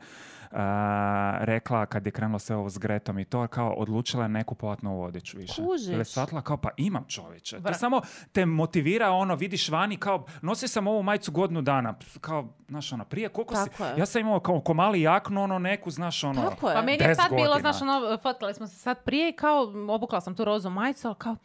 rekla kad je krenulo sve ovo s Gretom i to, kao odlučila je ne kupovat novu odjeću više. Kužiš. Jer je shvatila kao, pa imam čovječe. To Vra. samo te motivira, ono, vidiš vani, kao, nosio sam ovu majicu godinu dana, kao, znaš, ono, prije, koliko si, Tako je. ja sam imao kao mali jaknu, ono, neku, znaš, ono, Tako je. Pa meni je 10 sad bilo, godina. znaš, ono, fotkali smo se sad prije i kao, obukla sam tu rozu majicu, ali kao,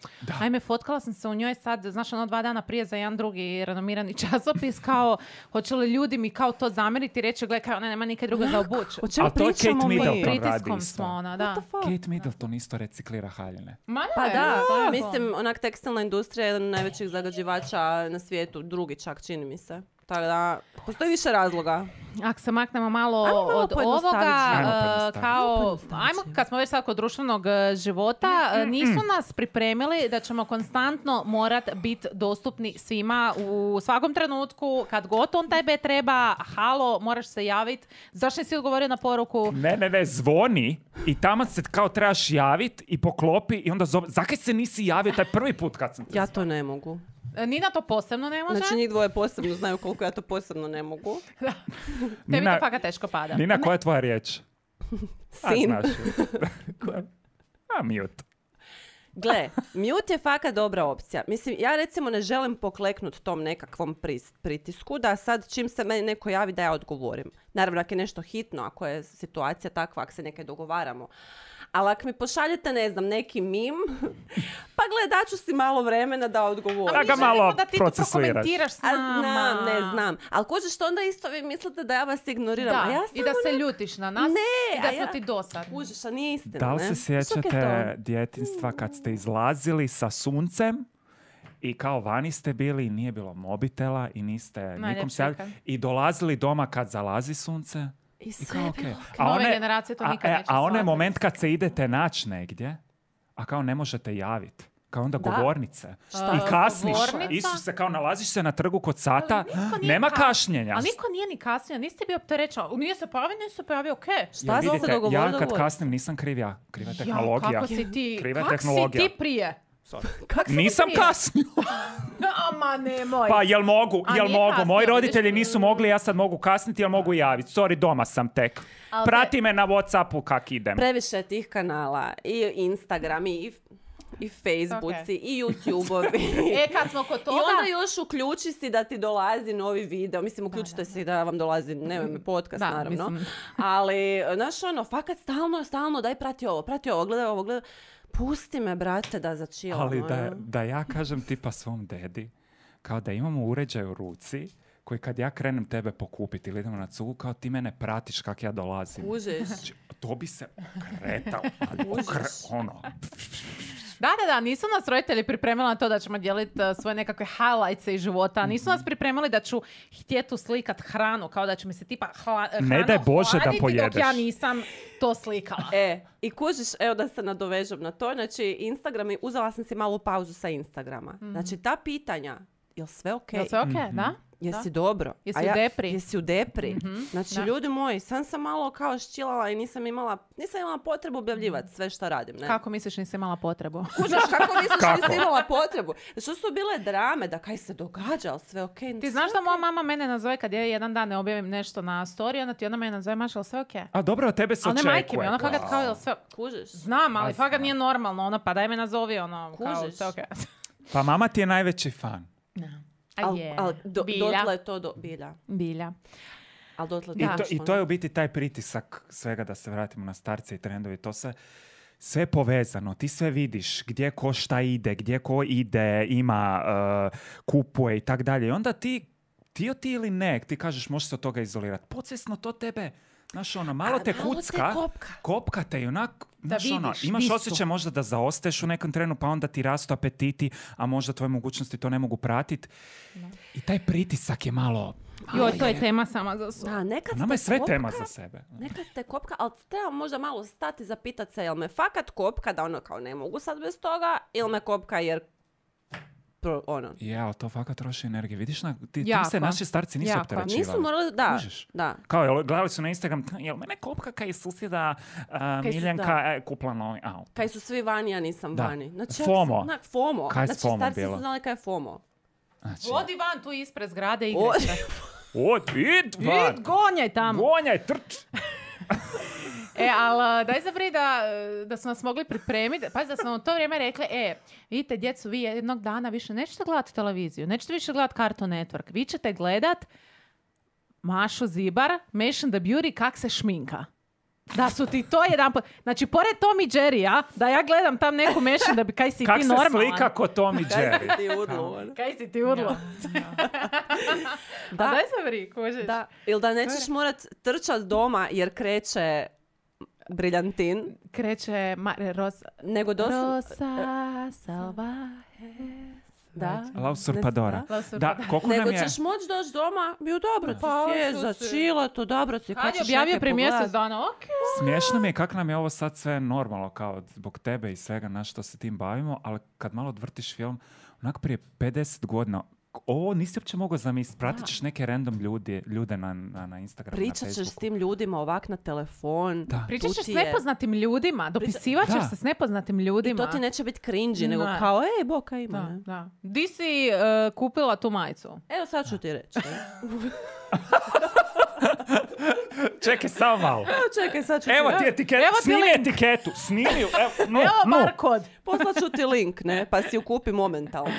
ajme, fotkala sam se u njoj sad, znaš, ono, 2 dana prije za jedan drugi renomirani časopis, kao, hoće li ljudi mi kao to zamjeriti i reći, gledaj, kao, ona nema nikad drugo za obući. O čemu Ali to je pričamo Kate mi? Middleton. radi Pritiskom isto. smo, ona, da. What the fuck? Kate Middleton isto reciklira haljine. Ma Pa ne, da, tako. mislim, onak tekstilna industrija je jedan od najvećih zagađivača na svijetu, drugi čak, čini mi se. Tako da, postoji više razloga. Ako se maknemo malo Ajmo malo od pojednostaviti ovoga, život. Ajmo pojednostaviti. kao, ajmo, kad smo već sad kod društvenog života, nisu nas pripremili da ćemo konstantno morat biti dostupni svima u svakom trenutku, kad god on tebe treba, halo, moraš se javiti. Zašto nisi odgovorio na poruku? Ne, zvoni i tamo se kao trebaš javit i poklopi i onda zove. Zakaj se nisi javio taj prvi put kad sam te Ja to ne mogu. Nina to posebno ne može. Znači, njih dvoje posebno znaju koliko ja to posebno ne mogu. Tebi to fakat teško pada. Nina, koja je tvoja riječ? Sin. Znaš. Mute. Gle, mute je fakat dobra opcija. Mislim, ja recimo ne želim pokleknut tom nekakvom pritisku da sad čim se meni neko javi da ja odgovorim. Naravno, ako je nešto hitno, ako je situacija takva, ako se nekaj dogovaramo. Ali ako mi pošaljete, ne znam, neki mim, pa gle, daću si malo vremena da odgovorim. Da ga Mi želimo malo da ti to procesuiraš. prokomentiraš s A nama. znam. Ali kužiš što onda isto vi mislite da ja vas ignoriram. Da, A ja i da se ljutiš na nas Ne, i da a smo ja- ti dosadni. Kužiš, a nije istina, Da li ne? se Znaš kak je sjećate to? djetinjstva kad ste izlazili sa suncem i kao vani ste bili i nije bilo mobitela i niste nikom Najljepši se ikad. i dolazili doma kad zalazi sunce? I I sve kao, je okej. bilo A Nove one- generacije to nikad neće a onaj shvatiti. moment kad se idete naći negdje, a kao ne možete javiti. Kao onda Da. govornice. Šta? I kasniš. Govornica? Isuse, kao nalaziš se na trgu kod sata. Ali nitko nije Nema kas- kašnjenja. Ali niko nije ni kasnio, niste bio opterećen. Nije se pojavio, okej. Jer Šta ste vidite, se dogovorili? ja kad dogovorili? kasnim nisam kriv ja. Kriva je Ja, tehnologija. kako si ti, Kriva je kak si tehnologija. ti prije? Nisam prije? kasnio. Ama nemoj. Pa jel mogu? A Jel nije mogu? kasno, Moji vidiš? roditelji nisu mogli, ja sad mogu kasniti, jel mogu javiti? Sorry, doma sam tek. Ali Prati me na Whatsappu kak idem. Previše je tih kanala. I Instagram i i Facebooci, i YouTubeovi. Kad smo kod toga... I onda još uključi si da ti dolazi novi video. Mislim, uključite si da vam dolazi, nemoj me podcast, naravno. Mislim. Ali, znaš, fakat stalno, daj prati ovo, gledaj ovo, gledaj. Pusti me, brate, da začilamo. Ali da ja kažem tipa svom dedi, kao da imamo uređaj u ruci, koji kad ja krenem tebe pokupiti ili idemo na cugu, kao ti mene pratiš kak ja dolazim. Kužiš. To bi se okretao. Da, nisu nas roditelji pripremili na to da ćemo dijeliti svoje nekakve highlights iz života. Nisu nas pripremili da ću htjeti slikat hranu, kao da će mi se tipa ne daj Bože da pojedeš. Dok ja nisam to slikala. I kužiš, evo da se nadovežem na to, znači Instagram, uzela sam si malu pauzu sa Instagrama. Znači ta pitanja, jel sve okej? Jel sve okej, da? Jesi dobro? Jesi u depri? Znači, ljudi moji, sam malo kao ščilala i nisam imala potrebu objavljivati sve što radim. Ne? Kako misliš nisi imala potrebu? Kužiš, kako misliš nisi imala potrebu? Što su bile drame, da kaj se događa, ali sve okej. Ti znaš da moja mama mene nazove kad ja jedan dan ne objavim nešto na story, onda ti ona mene nazove, Maša, ali sve okej? A dobro, od tebe se očekuje. Ali ne majke mi, ona fakat kao, jel sve... Kužiš? Znam, ali fakat nije normalno, pa daj me nazovi, kao sve okej. Pa mama ti je najveći fan. Dotle je to bilja. I to je u biti taj pritisak svega, da se vratimo na starce i trendovi. To se sve povezano. Ti sve vidiš gdje ko šta ide, gdje ko ide, ima, kupuje i tak dalje. I onda ti ili ne, ti kažeš možeš se od toga izolirati. Podsvjesno to tebe, znaš malo te kucka, kopka te i onak, znaš imaš osjećaj možda da zaostaješ u nekom trenu, pa onda ti rastu apetiti, a možda tvoje mogućnosti to ne mogu pratiti. I taj pritisak je malo... Joj, to je tema sama za sebe. Nama je sve tema za sebe. Nekad te kopka, ali treba možda malo stati zapitati se, jel me fakat kopka da kao ne mogu sad bez toga, ili me kopka jer ali to fakat troši energije. Vidiš, tim se naši starci nisu opterećivali. Nisu morali, da. Kao, gledali su na Instagram, jel mene kopka kaj susjeda Miljenka kupla novi auto. Kaj su svi vani, ja nisam vani. Znači, FOMO. Kaj je FOMO starci bilo? su znali kaj je FOMO. Odi van tu ispred zgrade i igrajte. Id van. Id, gonjaj tamo. Gonjaj, trč. Ali daj zabri da su nas mogli pripremiti. Pazi da smo u to vrijeme rekli, vidite djecu, vi jednog dana više nećete gledati televiziju, nećete više gledati Cartoon Network, vi ćete gledat Mašu Zibar, Mash the Beauty, kak se šminka. Da su ti to jedan put... Znači, pored Tom i Jerry, da ja gledam tam neku Mash da bi kaj si ti normalan. Kak se slika ko Tom i Jerry. Kaj si ti udlo. Da. Daj zabri, kužiš. Ili da nećeš morat trčat doma jer kreće Briljantin. Kreće Rosa. Nego Rosa Salvaje. Da. La Usurpadora. Nego ćeš moći doći doma, bio dobro ti sjeć, začila to, dobro ti. Kad je objavio prije mjesec dana, Smiješno mi je kako nam je ovo sad sve normalno, kao zbog tebe i svega na što se tim bavimo, ali kad malo odvrtiš film, onak prije 50 godina, ovo nisi uopće mogao zamisliti. Pratit ćeš neke random ljude na Instagramu, Pričat ćeš s tim ljudima ovak na telefon. Pričat ćeš s nepoznatim ljudima. Dopisivat ćeš se s nepoznatim ljudima. I to ti neće biti cringy, nego kao, boka ima. Di si kupila tu majicu? Evo sad ću ti reći. Čekaj, samo malo. Čekaj, sad ću ti Evo ti etiketu, snimi etiketu. Snimi, evo barkod. Poslat ću ti link, ne? Pa si ju kupi momentalno.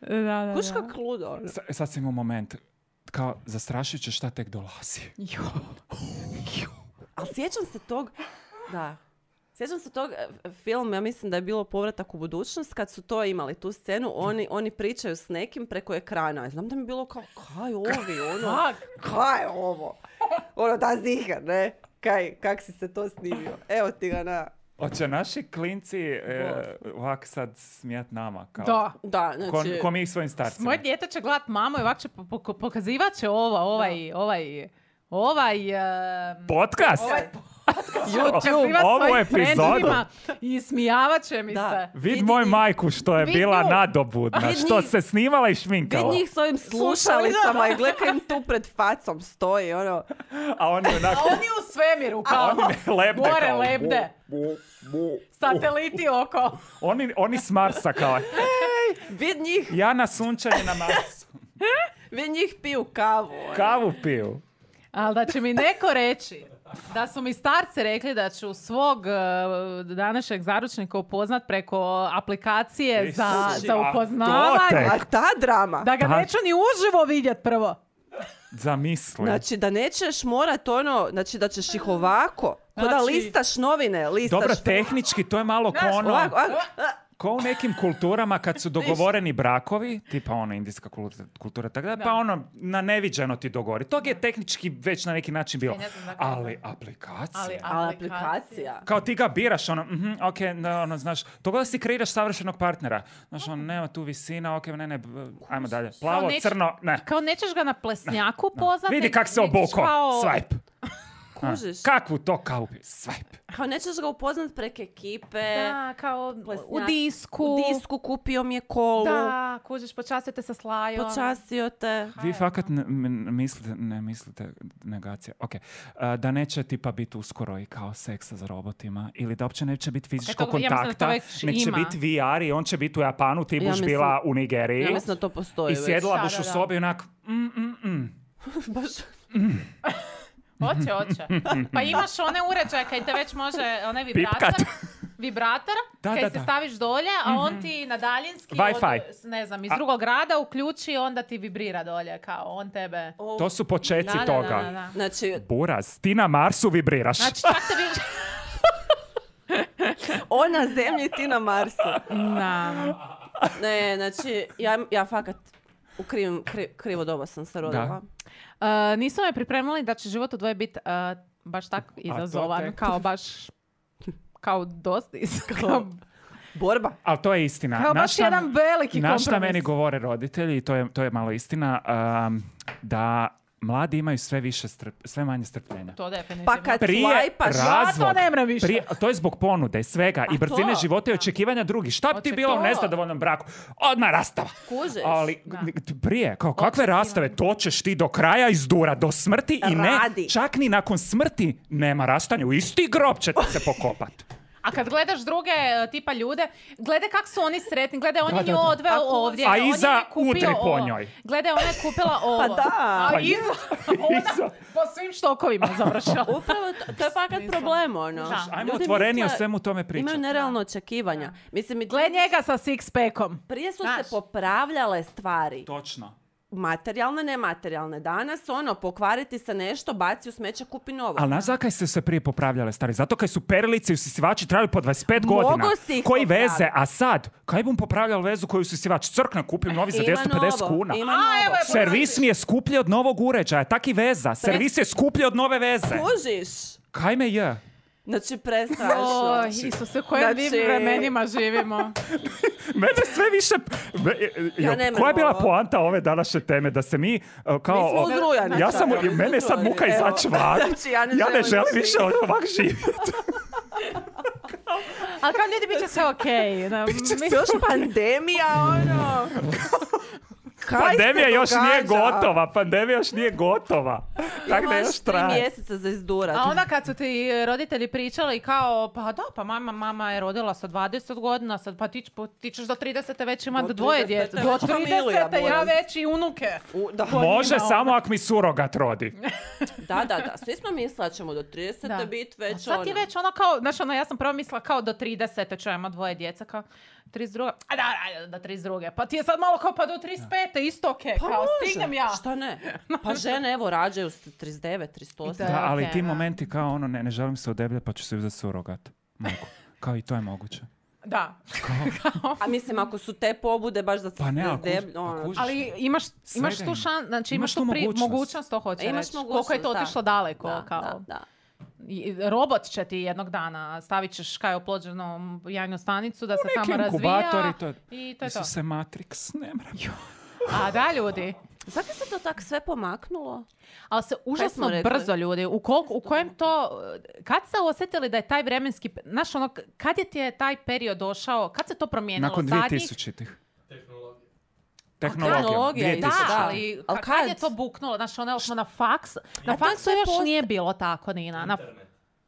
Da. Kuš kak ludo. Sad sam imao moment. Kao, zastrašujuće šta tek dolazi. Ali sjećam se tog... Da. Sjećam se tog filma, ja mislim da je bilo Povratak u budućnost, kad su to imali, tu scenu, oni pričaju s nekim preko ekrana. Znam da mi je bilo kao, kaj ovi, kaj ovo? Da ziha, ne? Kak si se to snimio? Evo ti ga na... Hoće naši klinci ovak sad smijat nama? Kao, da, znači... Ko mi svojim starcima. Moje dijete će gledat mamu i ovak će pokazivat će ovaj podcast? YouTube, ovu epizodu. I smijavat će mi se. Vid moju majku što je bila nadobudna, što se snimala i šminkala. Vid njih s ovim slušalicama i gledaj im tu pred facom stoji. A oni u svemiru, kao gore lebde. Sateliti oko. Oni s Marsa kao. Vid njih. Ja na sunčanju na Marsu. Vid njih piju kavu. Kavu piju. Ali da će mi neko reći Da su mi starci rekli da ću svog današnjeg zaručnika upoznat preko aplikacije za upoznavanje. A ta drama. Da ga neću ni uživo vidjet prvo. Zamisli. Znači da nećeš morat znači da ćeš ih ovako, ko da listaš novine, Dobro, tehnički to je malo ko ono... Ovako. Ko u nekim kulturama kad su dogovoreni brakovi, tipa ono indijska kultura, tako da, pa ono na neviđeno ti dogovori. Tog je tehnički već na neki način bilo. Ali aplikacija. Kao ti ga biraš, ono, ono, znaš, to da si kreiraš savršenog partnera. Znaš, ono, nema tu visina, ne, ajmo dalje. Plavo, crno, ne. Kao nećeš ga na plesnjaku poznati. Vidi kak se obuko, swipe. Kužiš. Kakvu to kao swipe? Kao nećeš ga upoznat preko ekipe. Da, kao plesnjak. u disku. U disku kupio mi je kolu. Da, kužiš, počastio te sa slajom. Počastio te. Vi fakat ne mislite negacija. Ok. Da neće tipa biti uskoro i kao seksa za robotima ili da uopće neće biti fizičkog kontakta. Neće biti VR i on će biti u Japanu, ti buš bila u Nigeriji. Ja mislim da to postoji. I sjedila buš u sobi onak Baš... Hoće. Pa imaš one uređaje kaj te već može, onaj vibrator, kaj se staviš dolje, a on ti na daljinski iz drugog grada uključi, onda ti vibrira dolje, kao on tebe... To su počeci toga. Da. Znači... Buraz, ti na Marsu vibriraš. Znači, čak te On na zemlji, ti na Marsu. Da. Ne, znači, ja fakat u krivo doba sam se rodila. Nisu me pripremili da će život u dvoje biti baš tako izazovan, kao dosta borba. Ali to je istina. Kao baš jedan veliki kompromis. Šta meni govore roditelji, to je malo istina, da mladi imaju sve manje strpljenja. To definitivno. Pa kad swajpaš, to ne mre više. To je zbog ponude i svega i brzine života i očekivanja drugih. Šta bi ti bilo u nezadovoljnom braku? Odmah rastava. Kužiš. Ali prije, kakve rastave? To ćeš ti do kraja izdura, do smrti i ne, čak ni nakon smrti nema rastanja. U isti grob će ti se pokopat. A kad gledaš druge tipa ljude, gledaj kak su oni sretni, gledaj on je nju odveo ovdje. A iza udri po njoj. Gledaj, ona je kupila ovo. Pa da. A iza po svim štokovima završila. Upravo, to je fakat problem, ono. Ajmo otvoreni o svemu tome pričati. Imaju nerealno očekivanja. Gledaj njega sa six-packom. Prije su se popravljale stvari. Točno. Materijalne, nematerijalne. Danas, pokvariti se nešto, baci u smeće, kupi novo. Ali znaš zakaj se prije popravljale stvari? Zato kaj su perilice i usisivači trajali po 25 godina. Koji veze? A sad, kaj bum popravljali vezu koju usisivač crkne, kupim novi za 250 kuna. Servis mi je skuplji od novog uređaja. Tak i veza. Servis je skuplji od nove veze. Kužiš? Kaj me je? Znači, prestrašno. Isuse, u kojim vremenima živimo. Mene sve više... Koja je bila poanta ove današnje teme? Da se mi kao... Mi smo uzrujani. Mene je sad muka izaći van. Ja ne želim više ovak živjeti. Ali kao ljudi, bit će sve okej. Biće se još pandemija, Pandemija još nije gotova. Tako da još traje. 3 mjeseca za izdurat. A onda kad su ti roditelji pričali kao, pa mama je rodila sa 20 godina, sad pa ti ćeš do 30. već imati dvoje djece. Do 30. ja već i unuke. Može samo ako mi surogat rodi. Da. Svi smo mislili da ćemo do 30. biti već sad ti već kao, znaš ja sam prvo mislila kao do 30. ću imati dvoje djeca, kao 32. Da 32. Pa ti je sad malo kao pa do 35. isto okej. Pa kao stignem ja. Šta ne? Pa žene evo rađaju 39, 38. Da, ali ti momenti kao ne želim se odebljati pa ću se uzeti surogat. Kao i to je moguće. Da. A mislim, ako su te pobude baš da se deblje... Ali imaš tu znači imaš tu mogućnost, to hoće reći. Koliko je to otišlo daleko. Da. robot će ti jednog dana stavit ćeš kaj oplođenu jajnu stanicu da se tamo razvija. I to je to. Isuse, Matrix, ne mram. A da, ljudi. Zato se to tako sve pomaknulo? Ali se užasno brzo, ljudi. U kojem to... Kad ste osjetili da je taj vremenski... Znaš, kad je ti je taj period došao? Kad se to promijenilo? Nakon 2000-ih. Tehnologija. Da, ali kad je to buknulo? Znaš, smo na faks. Na faksu još nije bilo tako, Nina.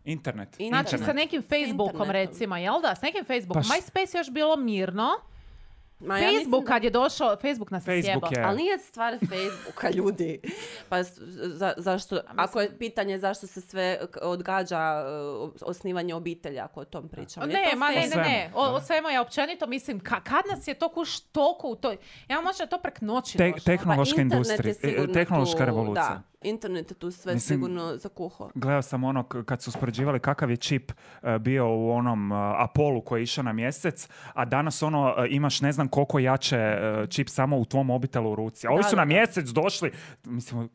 Internet. Znači, sa nekim Facebookom, recimo, jel da? S nekim Facebookom. MySpace je još bilo mirno. Ma ja Facebook mislim kad je došao, Facebook nas je Facebook sjebao. je... Ali nije stvar Facebooka, ljudi. Pa zašto, ako je pitanje zašto se sve odgađa osnivanje obitelji, ako o tom pričamo. Ne. svemu, O svemu ja općenito mislim, kad nas je to kuš toliko u toj... Ja možda je to prek noći došlo. Tehnološka Pa internet je industrija, sigurno tehnološka tu, revolucija. Da, internet je tu sve Mislim, sigurno zakuhao. Gledao sam ono kad su uspoređivali kakav je čip bio u onom Apollu koji je išao na mjesec, a danas ono imaš ne znam koliko jače čip samo u tvom mobitelu u ruci. A ovi su na mjesec došli, mislim,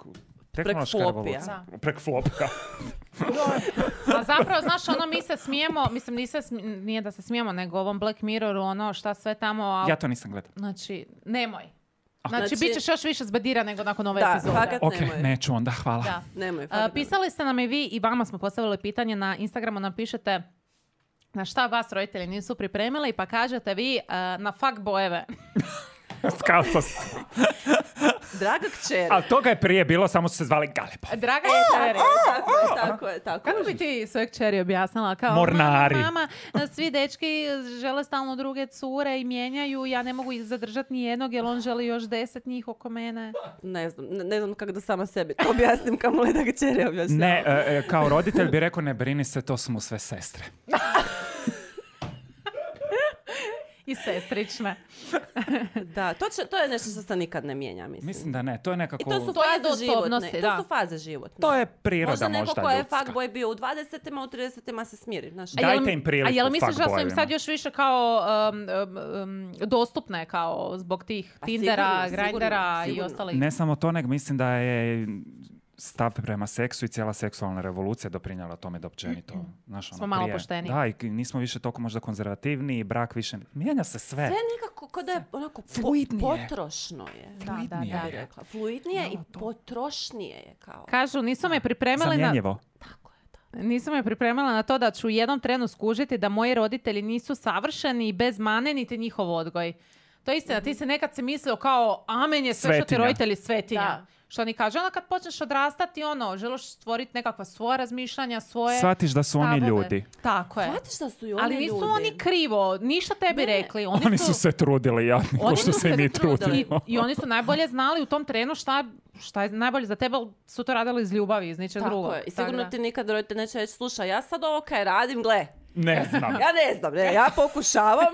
tehnološka revolucija. Prek flopija. A zapravo, znaš, ono mi se smijemo, mislim, nije da se smijemo, nego ovom Black Mirroru, ono šta sve tamo... Ja to nisam gledao. Znači, nemoj. Znači, Znači- bit ćeš još više zbedira nego nakon ove Da, epizode. fakat Ok, nemoj. neću onda, hvala. Da. Nemoj, fakat Pisali ste nam i vi i vama smo postavili pitanje na Instagramu, nam pišete na šta vas roditelji nisu pripremili, pa kažete vi na fuckbojeve. Skao sam se. Draga kćeri. Ali toga je prije bilo, samo su se zvali Galeba. Draga kćeri. Tako. Kako bi ti svoje kćeri objasnila? Kao, Mornari. Mama, svi dečki žele stalno druge cure i mijenjaju, ja ne mogu ih zadržati ni jednog, jer on želi još 10 njih oko mene. Ne znam kako da sama sebi to objasnim, kamo li da kćeri objašnjava. Ne, kao roditelj bi rekao, ne brini se, to su mu sve sestre. I sestrične. Da, to je nešto što se nikad ne mijenja, mislim. Mislim da ne, to je nekako... I to su To je faze osobnosti, životne. da. To su faze životne. To je priroda Možda neko ko je ljudska. fuckboy bio u 20-ima, u 30-ima se smiri. Znaš. Da. Dajte im priliku A jel misliš da su im fuckboyevima. sad još više kao dostupne kao zbog tih A Tindera, sigurno, Grindera i sigurno. ostalih? Ne samo to, nego mislim da je stav prema seksu i cijela seksualna revolucija doprinjela tome da općenito... Znaš, Smo malo prije- pošteniji. Da, i nismo više toliko možda konzervativni, brak više... Mijenja se sve. Sve nekako kod da je onako Fluidnije. potrošno je. Fluidnije Ja bih je. rekla. Fluidnije i potrošnije je kao. Kažu, nisu me pripremili na... Zamjenjivo. Tako je, da. Nisam me pripremila na to da ću u jednom trenu skužiti da moji roditelji nisu savršeni i bez mane niti njihov odgoj. To je istina, ti se nekad si mislio kao amen je sve što ti Svetinja. roditelji svetinja. Da. Što oni kažu, onda kad počneš odrastati, želiš stvoriti nekakva svoja razmišljanja, svoje Shvatiš da su oni stavove. ljudi. Tako je. Shvatiš da su i oni Ali nisu ljudi. oni krivo, ništa tebi rekli. Oni su se trudili, jadni, ko Oni što su se i se mi trudili. trudimo. I oni su najbolje znali u tom trenu šta je najbolje za tebe, ali su to radili iz ljubavi, iz ničeg Tako drugog. je. I Tako sigurno da. ti nikad roditelj neće reći, slušaj, ja sad ovo kaj radim, gle. Ne znam. Ja ne znam, ja pokušavam.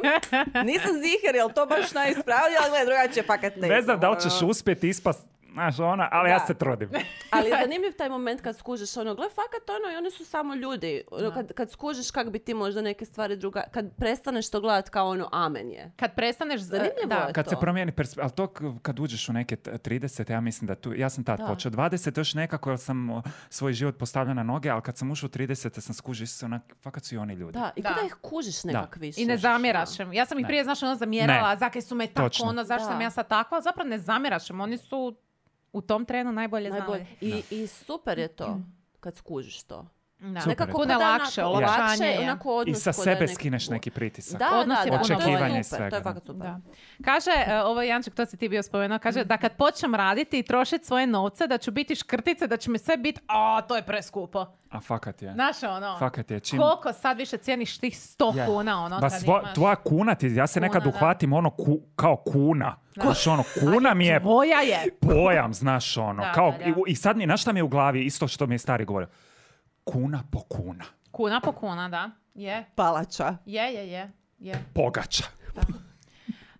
Nisam ziher, jel to baš najispravnije, ali gle, drugačije fakat ne. Ne znam da li ćeš uspjeti ispast, znaš, ali ja Da. se trudim. Ali je zanimljiv taj moment kad skužiš gle, fakat i oni su samo ljudi. Kad skužiš kak bi ti možda neke stvari kad prestaneš to gledat kao amen je. Kad prestaneš... Zanimljivo da. je. Kad se to. promijeni ali to kad uđeš u neke 30, ja mislim da tu, ja sam tad počeo 20, još nekako, jer sam svoj život postavljao na noge, ali kad sam ušao u 30, sam skužio se fakat su i oni ljudi. Da, i Da. kada ih kužiš nekak više. I ne zamjeraš im. Ja sam ih prije, znaš, zamjerala, Ne. zakaj su me tako, Točno. zašto sam ja sad takva, zapravo ne zamjeraš im. Oni su u tom trenu najbolje znali. I super je to kad skužiš to. Da. Super. Nekako Puno puno lakše, olakšanje je. onako odnos I sa ko da sebe je skineš neki pritisak. Da, Odnos je da, puno to je bolje. super, to je fakat super. Da. Kaže, ovo je Janček, to si ti bio spomenuo, kaže da kad počnem raditi i trošiti svoje novce, da ću biti škrtice, da će mi sve biti, to je preskupo. A fakat je. Znaš, Fakat je. Čim... koliko sad više cijeniš tih 100 Je. kuna, Ba, kad imaš. tvoja kuna ti, ja se nekad Kuna, da. uhvatim kao kuna. Znaš, kuna mi je Tvoja je. pojam, znaš, Da, kao, da, da. I sad znaš šta mi je u glavi, isto što mi je stari govorio. Kuna po kuna. Kuna po kuna, da. Je. Palača. Je. Pogača.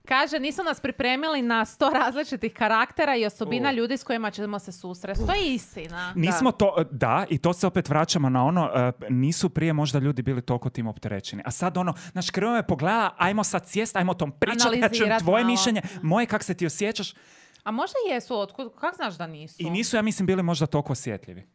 Kaže, nisu nas pripremili na 100 različitih karaktera i osobina ljudi s kojima ćemo se susresti. To je istina. Nismo to, da, i to se opet vraćamo na nisu prije možda ljudi bili toliko tim opterećeni. A sad znaš, krivo me pogleda, ajmo sad sjest, ajmo o tom pričati, ja čujem Analizirat tvoje malo. mišljenje, moje kak se ti osjećaš. A možda jesu, kako znaš da nisu? I nisu, ja mislim, bili možda toliko osjetljivi.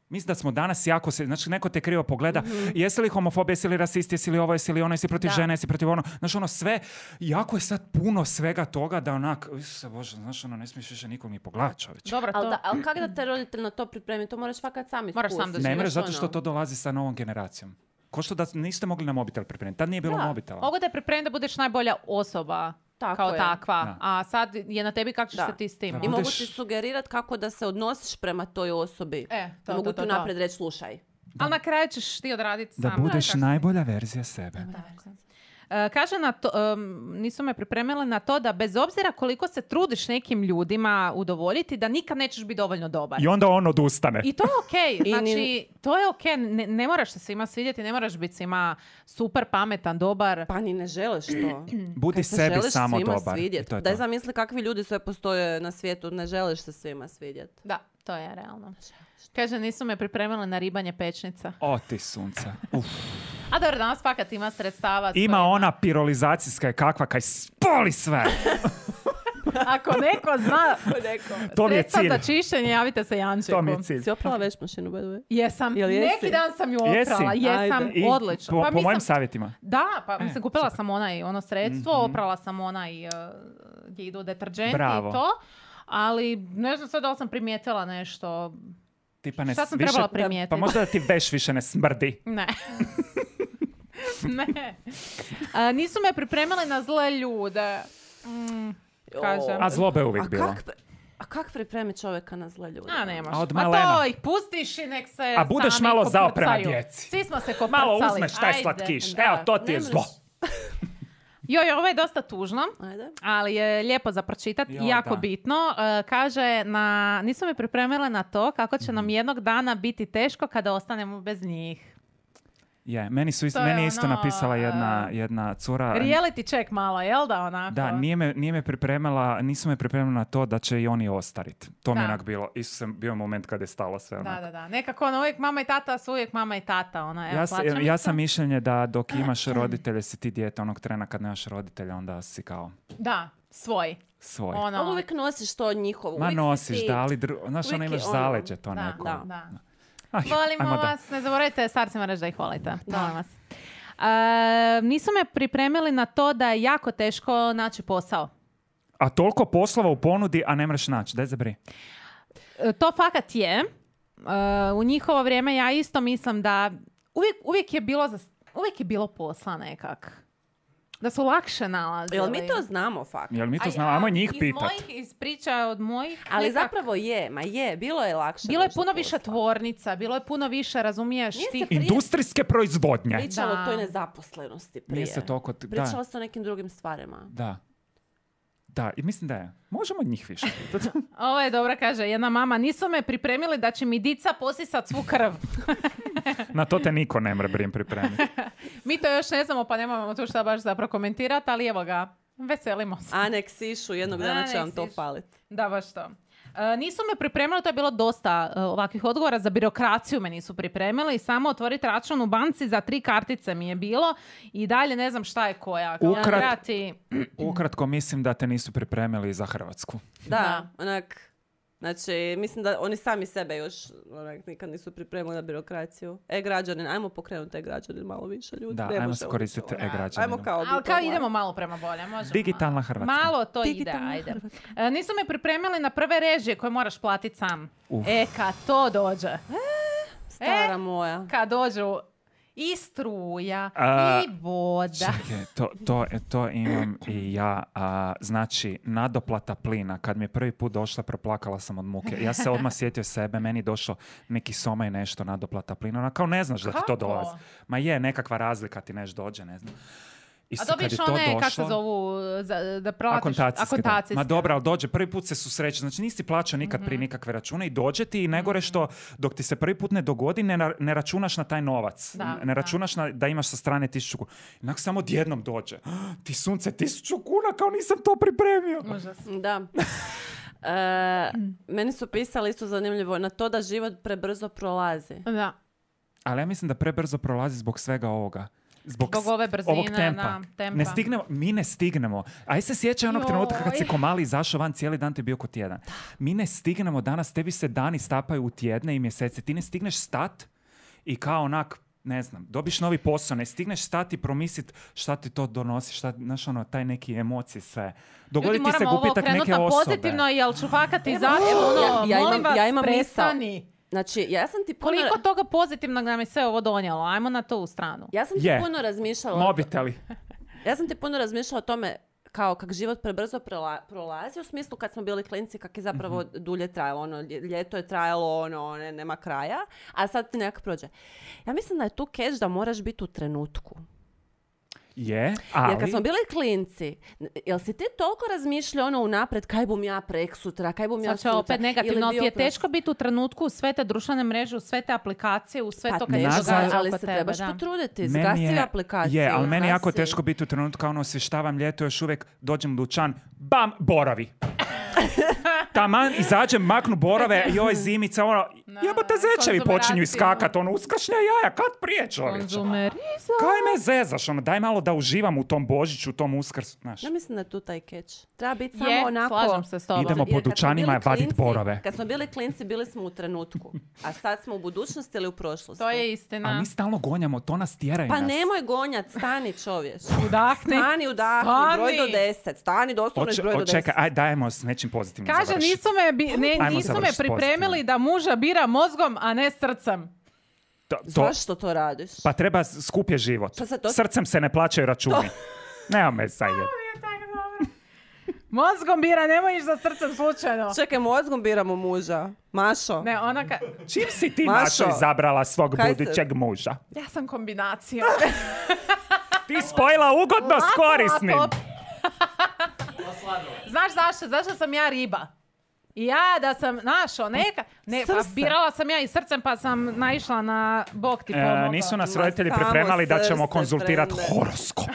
Mislim da smo danas jako znači neko te krivo pogleda, jesi li homofob, jesi li rasist, jesi li ovo, jesi li ono, jesi protiv žene, jesi protiv znaš, sve, jako je sad puno svega toga da onak, Isuse Bože, znaš, ne smiješ više nikog ni pogledati, čovječe. Dobro, to... Ali kako da te roditelj na to pripremi? To moraš fakat sam iskusiti. Moraš sam da Ne živiš mreš zato što to dolazi sa novom generacijom. Ko što da niste mogli na mobitel pripremiti, tad nije bilo mobitela. Mogu te pripremiti da budeš najbolja osoba Tako kao je. takva. Da. A sad je na tebi kako ćeš Da. se ti s tim. I mogu budeš- ti sugerirat kako da se odnosiš prema toj osobi. To, mogu to, ti to. naprijed reći, slušaj. Ali na kraju ćeš ti odraditi Da sam. budeš najbolja verzija sebe. Kaže nisu me pripremile na to da bez obzira koliko se trudiš nekim ljudima udovoljiti, da nikad nećeš biti dovoljno dobar. I onda on odustane. I to je okej. Znači, to je okej. Ne moraš se svima svidjeti, ne moraš biti svima super, pametan, dobar. Pa ni ne želiš to. Budi sebi samo dobar. Daj zamisli kakvi ljudi sve postoje na svijetu, ne želiš se svima svidjeti. Da, to je realno. Kaže, nisu me pripremili na ribanje pečnica. O ti sunce. A dobro, danas fakat ima sredstava. Ima ona pirolizacijska kakva kaj spoli sve. Ako neko zna to mi je sredstva cilj. za čišćenje, javite se Jančeku. To mi je cilj. Si oprala veš mašinu, by the way? Jesam. Jel jesi? Neki dan sam ju oprala. Jesam, odlično. Po mojim savjetima. Da, pa mislim, kupila sam ono sredstvo, oprala sam gdje idu deterđenti i to. Ali ne znam sve da li sam primijetila nešto. Tipa šta sam trebala primijetiti? Pa možda da ti veš više ne smrdi. Ne. Ne. Nisu me pripremili na zle ljude. Kažem. A zlobe je uvijek bilo. A kak pripremi čovjeka na zle ljude? Nemaš. A to ih pustiš i nek se a budeš sami malo zao koprcaju. prema djeci. Svi smo se koprcali. Malo uzmeš taj slatkiš. Evo, to ti je zlo. Joj, ovo je dosta tužno, Ajde. ali je lijepo za pročitati i jako bitno. Kaže, nisu me pripremile na to kako će nam jednog dana biti teško kada ostanemo bez njih. Je, meni je isto napisala jedna cura. Reality check malo, jel da onako? Da, nisu me pripremili na to da će i oni ostariti. To mi je onak bilo. Isto sam bio moment kada je stalo sve onak. Da. Nekako uvijek mama i tata su uvijek mama i tata. Ja sam mišljenje da dok imaš roditelje si ti dijete, onog trena kad nemaš roditelja onda si kao... Da, svoj. Ali uvijek nosiš to njihovo. Ma nosiš, da, ali znaš, imaš zaleđe to neko. Da. Volimo vas, ne zaboravite starcima reći da ih volite. Volim vas. Nisu me pripremili na to da je jako teško naći posao. A toliko poslova u ponudi, a ne mreš naći, daj zabri. To fakat je. U njihovo vrijeme ja isto mislim da uvijek je bilo posla nekak. Da su lakše nalazili. Jel mi to znamo fakt? Jel mi to znamo? Ajmo njih pitat. Iz priča od mojih... Ali zapravo bilo je lakše. Bilo je puno više tvornica, bilo je puno više, razumiješ ti... Industrijske proizvodnje. Pričalo o toj nezaposlenosti prije. Nije se toliko... Pričalo se o nekim drugim stvarima. Da, i mislim da je. Možemo od njih više. Ovo je dobro, kaže jedna mama. Nisu me pripremili da će mi dica posisat svu krv. Na to te niko ne mre pripremiti. Mi to još ne znamo, pa nemamo tu šta baš zapravo komentirati, ali evo ga, veselimo se. A nek sišu, jednog dana će vam to faliti. Da, baš to. Nisu me pripremili, to je bilo dosta ovakvih odgovora, za birokraciju me nisu pripremili, samo otvoriti račun u banci za 3 kartice mi je bilo i dalje ne znam šta je koja. Ukratko mislim da te nisu pripremili za Hrvatsku. Da, onak, znači mislim da oni sami sebe još nikad nisu pripremili na birokraciju. E-građanin, ajmo pokrenuti e-građanin malo više ljudi. Da, ajmo se koristiti e-građaninom. Ajmo kao idemo malo prema bolje, možemo. Digitalna Hrvatska. Malo to ide, ajde. Nisu me pripremili na prve režije koje moraš platiti sam. Kad to dođe. Stara moja. Kad dođu i struja, i voda. Čekaj, to imam i ja. Znači, nadoplata plina. Kad mi je prvi put došla, proplakala sam od muke. Ja se odmah sjetio sebe, meni došlo neki soma i nešto nadoplata plina. Ona kao ne znaš da ti to dolazi. Ma je, nekakva razlika ti neš dođe, ne znam. A dobiš one, kako se zovu, da platiš akontacijske. Ma dobro, ali dođe, prvi put se susreće. Znači nisi plaćao nikad prije nikakve račune i dođe ti i negore što dok ti se prvi put ne dogodi, ne računaš na taj novac. Ne računaš da imaš sa strane 1000 kuna. Inak samo odjednom dođe. Ti sunce, 1000 kuna, kao nisam to pripremio. Da. Meni su pisali isto zanimljivo na to da život prebrzo prolazi. Da. Ali ja mislim da prebrzo prolazi zbog svega ovoga. Zbog ove brzine, ovog tempa. Mi ne stignemo. Aj se sjećaj onog trenutka kad si ko mali izašao van, cijeli dan ti je bio ko tjedan. Mi ne stignemo danas, tebi se dani stapaju u tjedne i mjesece. Ti ne stigneš stat i kao onak, ne znam, dobiš novi posao, ne stigneš stati i promisliti šta ti to donosi, znaš ono, taj neki emocije, sve. Dogodi ti se gubitak neke osobe. Pozitivno, jel ću fakati ja imam prestani. Znači, ja sam ti puno... Koliko toga pozitivnog nam je sve ovo donijelo? Ajmo na to u stranu. Ja sam ti puno razmišljala... Mobiteli. Ja sam ti puno razmišljala o tome kao kak život prebrzo prolazi, u smislu kad smo bili klinci kak je zapravo dulje trajalo. Ono, ljeto je trajalo, nema kraja, a sad ti nekako prođe. Ja mislim da je tu catch da moraš biti u trenutku. Je, ali... Jer kad smo bili klinci, jel si ti toliko razmišljao ono unapred, kaj bum ja prek sutra, kaj bum ja Sad će sutra? opet negativno, Ili ti je bio teško biti u trenutku u sve te društvene mreže, u sve te aplikacije, u sve Pa to kad se teško, događa ali oko se tebe. trebaš Da. potruditi, Meni zgasi aplikaciju. Je, ali meni je jako zgasi. teško biti u trenutku kao ono osvještavam ljeto, još uvijek dođem u dućan, bam, boravi. Taman, izađem, maknu borave i ove zimica, ono, jebote zečevi počinju konzumeracija. iskakat, ono, uskršnja jaja, kad prije čovječe? Konzumerizam. Kaj me zezaš, ono, daj malo da uživam u tom Božiću, u tom Uskrsu, znaš. Ja mislim da je tu taj catch. Treba biti Je, samo onako... slažem se s tobom. Idemo po Jer kad smo dućanima bili vadit klinci- borove. Kad smo bili klinci, bili smo u trenutku. A sad smo u budućnosti ili u prošlosti. To je A istina. mi stalno gonjamo, to nas tjeraju Pa nas. nemoj gonjat, stani čovječ. Udahni. Stani, udahni, Stani. broj do 10. Stani, doslovno broj do 10. Čekaj, aj dajemo s nečim pozitivnim Kaže, završiti. nisu me završiti pripremili pozitivno. da muža bira mozgom, a ne srcem. Zašto to radiš? Pa treba skup je život. Pa sad to- Srcem se ne plaćaju računi. Nema me sad je. Mozgom bira, nemoj ići za srcem slučajno. Čekaj, mozgom biramo muža. Mašo. Ne, ona Čim si ti Mašo, Mašo izabrala svog kaj se- budućeg muža? ja sam kombinacija. Ti spojila ugodno s korisnim. Lako. Znaš zašto? Zašto sam ja riba? I ja da sam našao neka... Ne, pa Srce. birala sam ja i srcem pa sam naišla na Bog ti pomogao. Nisu nas Ma roditelji samo pripremali da ćemo srce, konzultirati Brende. horoskop.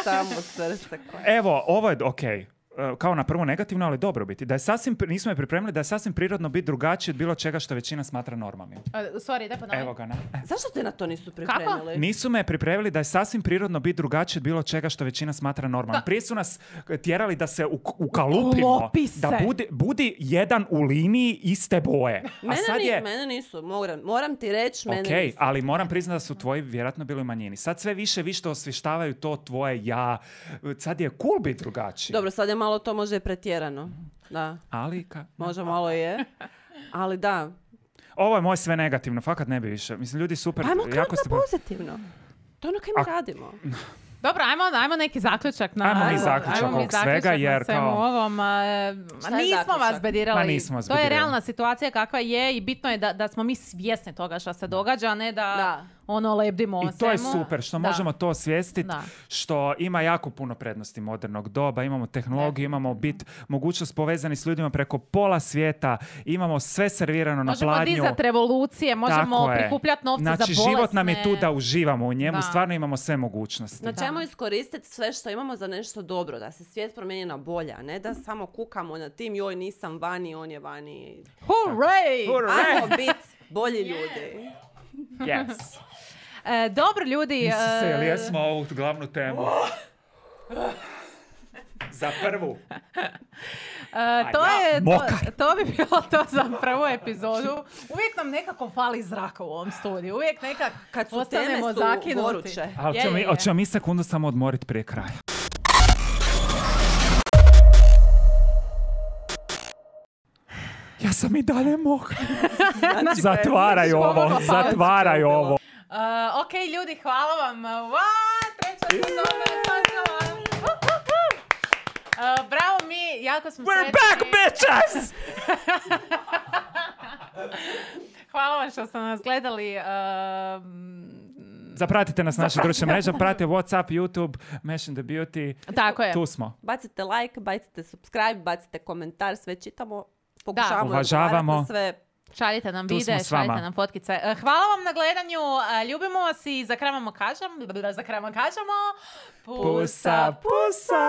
Samo srce koje. Evo, ovo je okej. Kao na prvo negativno, ali dobro biti. Da je sasvim, nismo je pripremili da je sasvim prirodno biti drugačiji od bilo čega što većina smatra normalnim. Sorry, da ponovim. Evo ga, na. Zašto te na to nisu pripremili? Nisu me pripremili da je sasvim prirodno biti drugačiji od bilo čega što većina smatra normalnim. Prije su nas tjerali da se ukalupimo, Uklopi se. da budi jedan u liniji iste boje. A sad je... Mene nisu, moram ti reći, mene Ok, nisu. ali moram priznati da su tvoji vjerojatno bili u manjini. Sad sve više osvještavaju to tvoje ja. Sad je cool biti drugačiji. Dobro, sad je malo to može pretjerano. Da, Ali može malo je. Ali da. ovo je moje sve negativno, fakat ne bi više. Mislim, ljudi super. Ajmo jako krenuti ste... na pozitivno. To je ono kaj mi radimo. Dobro, ajmo neki zaključak na Ajmo mi ajmo zaključak mi ovog zaključak svega, na jer svemu kao- ovom. Šta je Nismo zaključak? vas bedirali. Ma nismo vas To je bedirali. realna situacija kakva je i bitno je da smo mi svjesni toga što se događa, a ne da Da. ono lebdimo o I to je svemu. super, što Da. možemo to osvijestiti, Da. što ima jako puno prednosti modernog doba, imamo tehnologiju, imamo mogućnost povezani s ljudima preko pola svijeta, imamo sve servirano na Možemo pladnju. dizati revolucije, možemo Tako je. prikupljati novce za Znači, bolesne. život nam je tu da uživamo u njemu, Da. stvarno imamo sve mogućnosti. Na čemu iskoristiti sve što imamo za nešto dobro, da se svijet promijeni na bolje, a ne da samo kukamo na tim, joj nisam vani, on je vani. Hooray! Ajmo biti bolji ljudi. Yes. Dobro, ljudi. Isuse, jel jesmo ovu glavnu temu? Za prvu. To bi bilo to za prvu epizodu. Uvijek nam nekako fali zraka u ovom studiju. Uvijek nekak Kad su ostanemo teme su zakinuti. goruće. Ali Je. hoćemo mi sekundu samo odmoriti prije kraja. Ja sam i dalje mokra. Zatvaraj ovo, zatvaraj ovo. Ok, ljudi, hvala vam. Treća sezona je počela. Bravo mi, jako smo We're sretni. back, bitches! Hvala vam što ste nas gledali. Zapratite nas na naše društvene mreže, pratite WhatsApp, YouTube, Mesh the Beauty. Tako je. Tu smo. Bacite like, bacite subscribe, bacite komentar, sve čitamo. Pokušavamo uvažavamo. odgovarati na sve. Šaljite nam Tu videe, smo s vama. šaljite nam fotkice. Hvala vam na gledanju, ljubimo vas i za kraj vam kažemo, pusa, Pusa, pusa!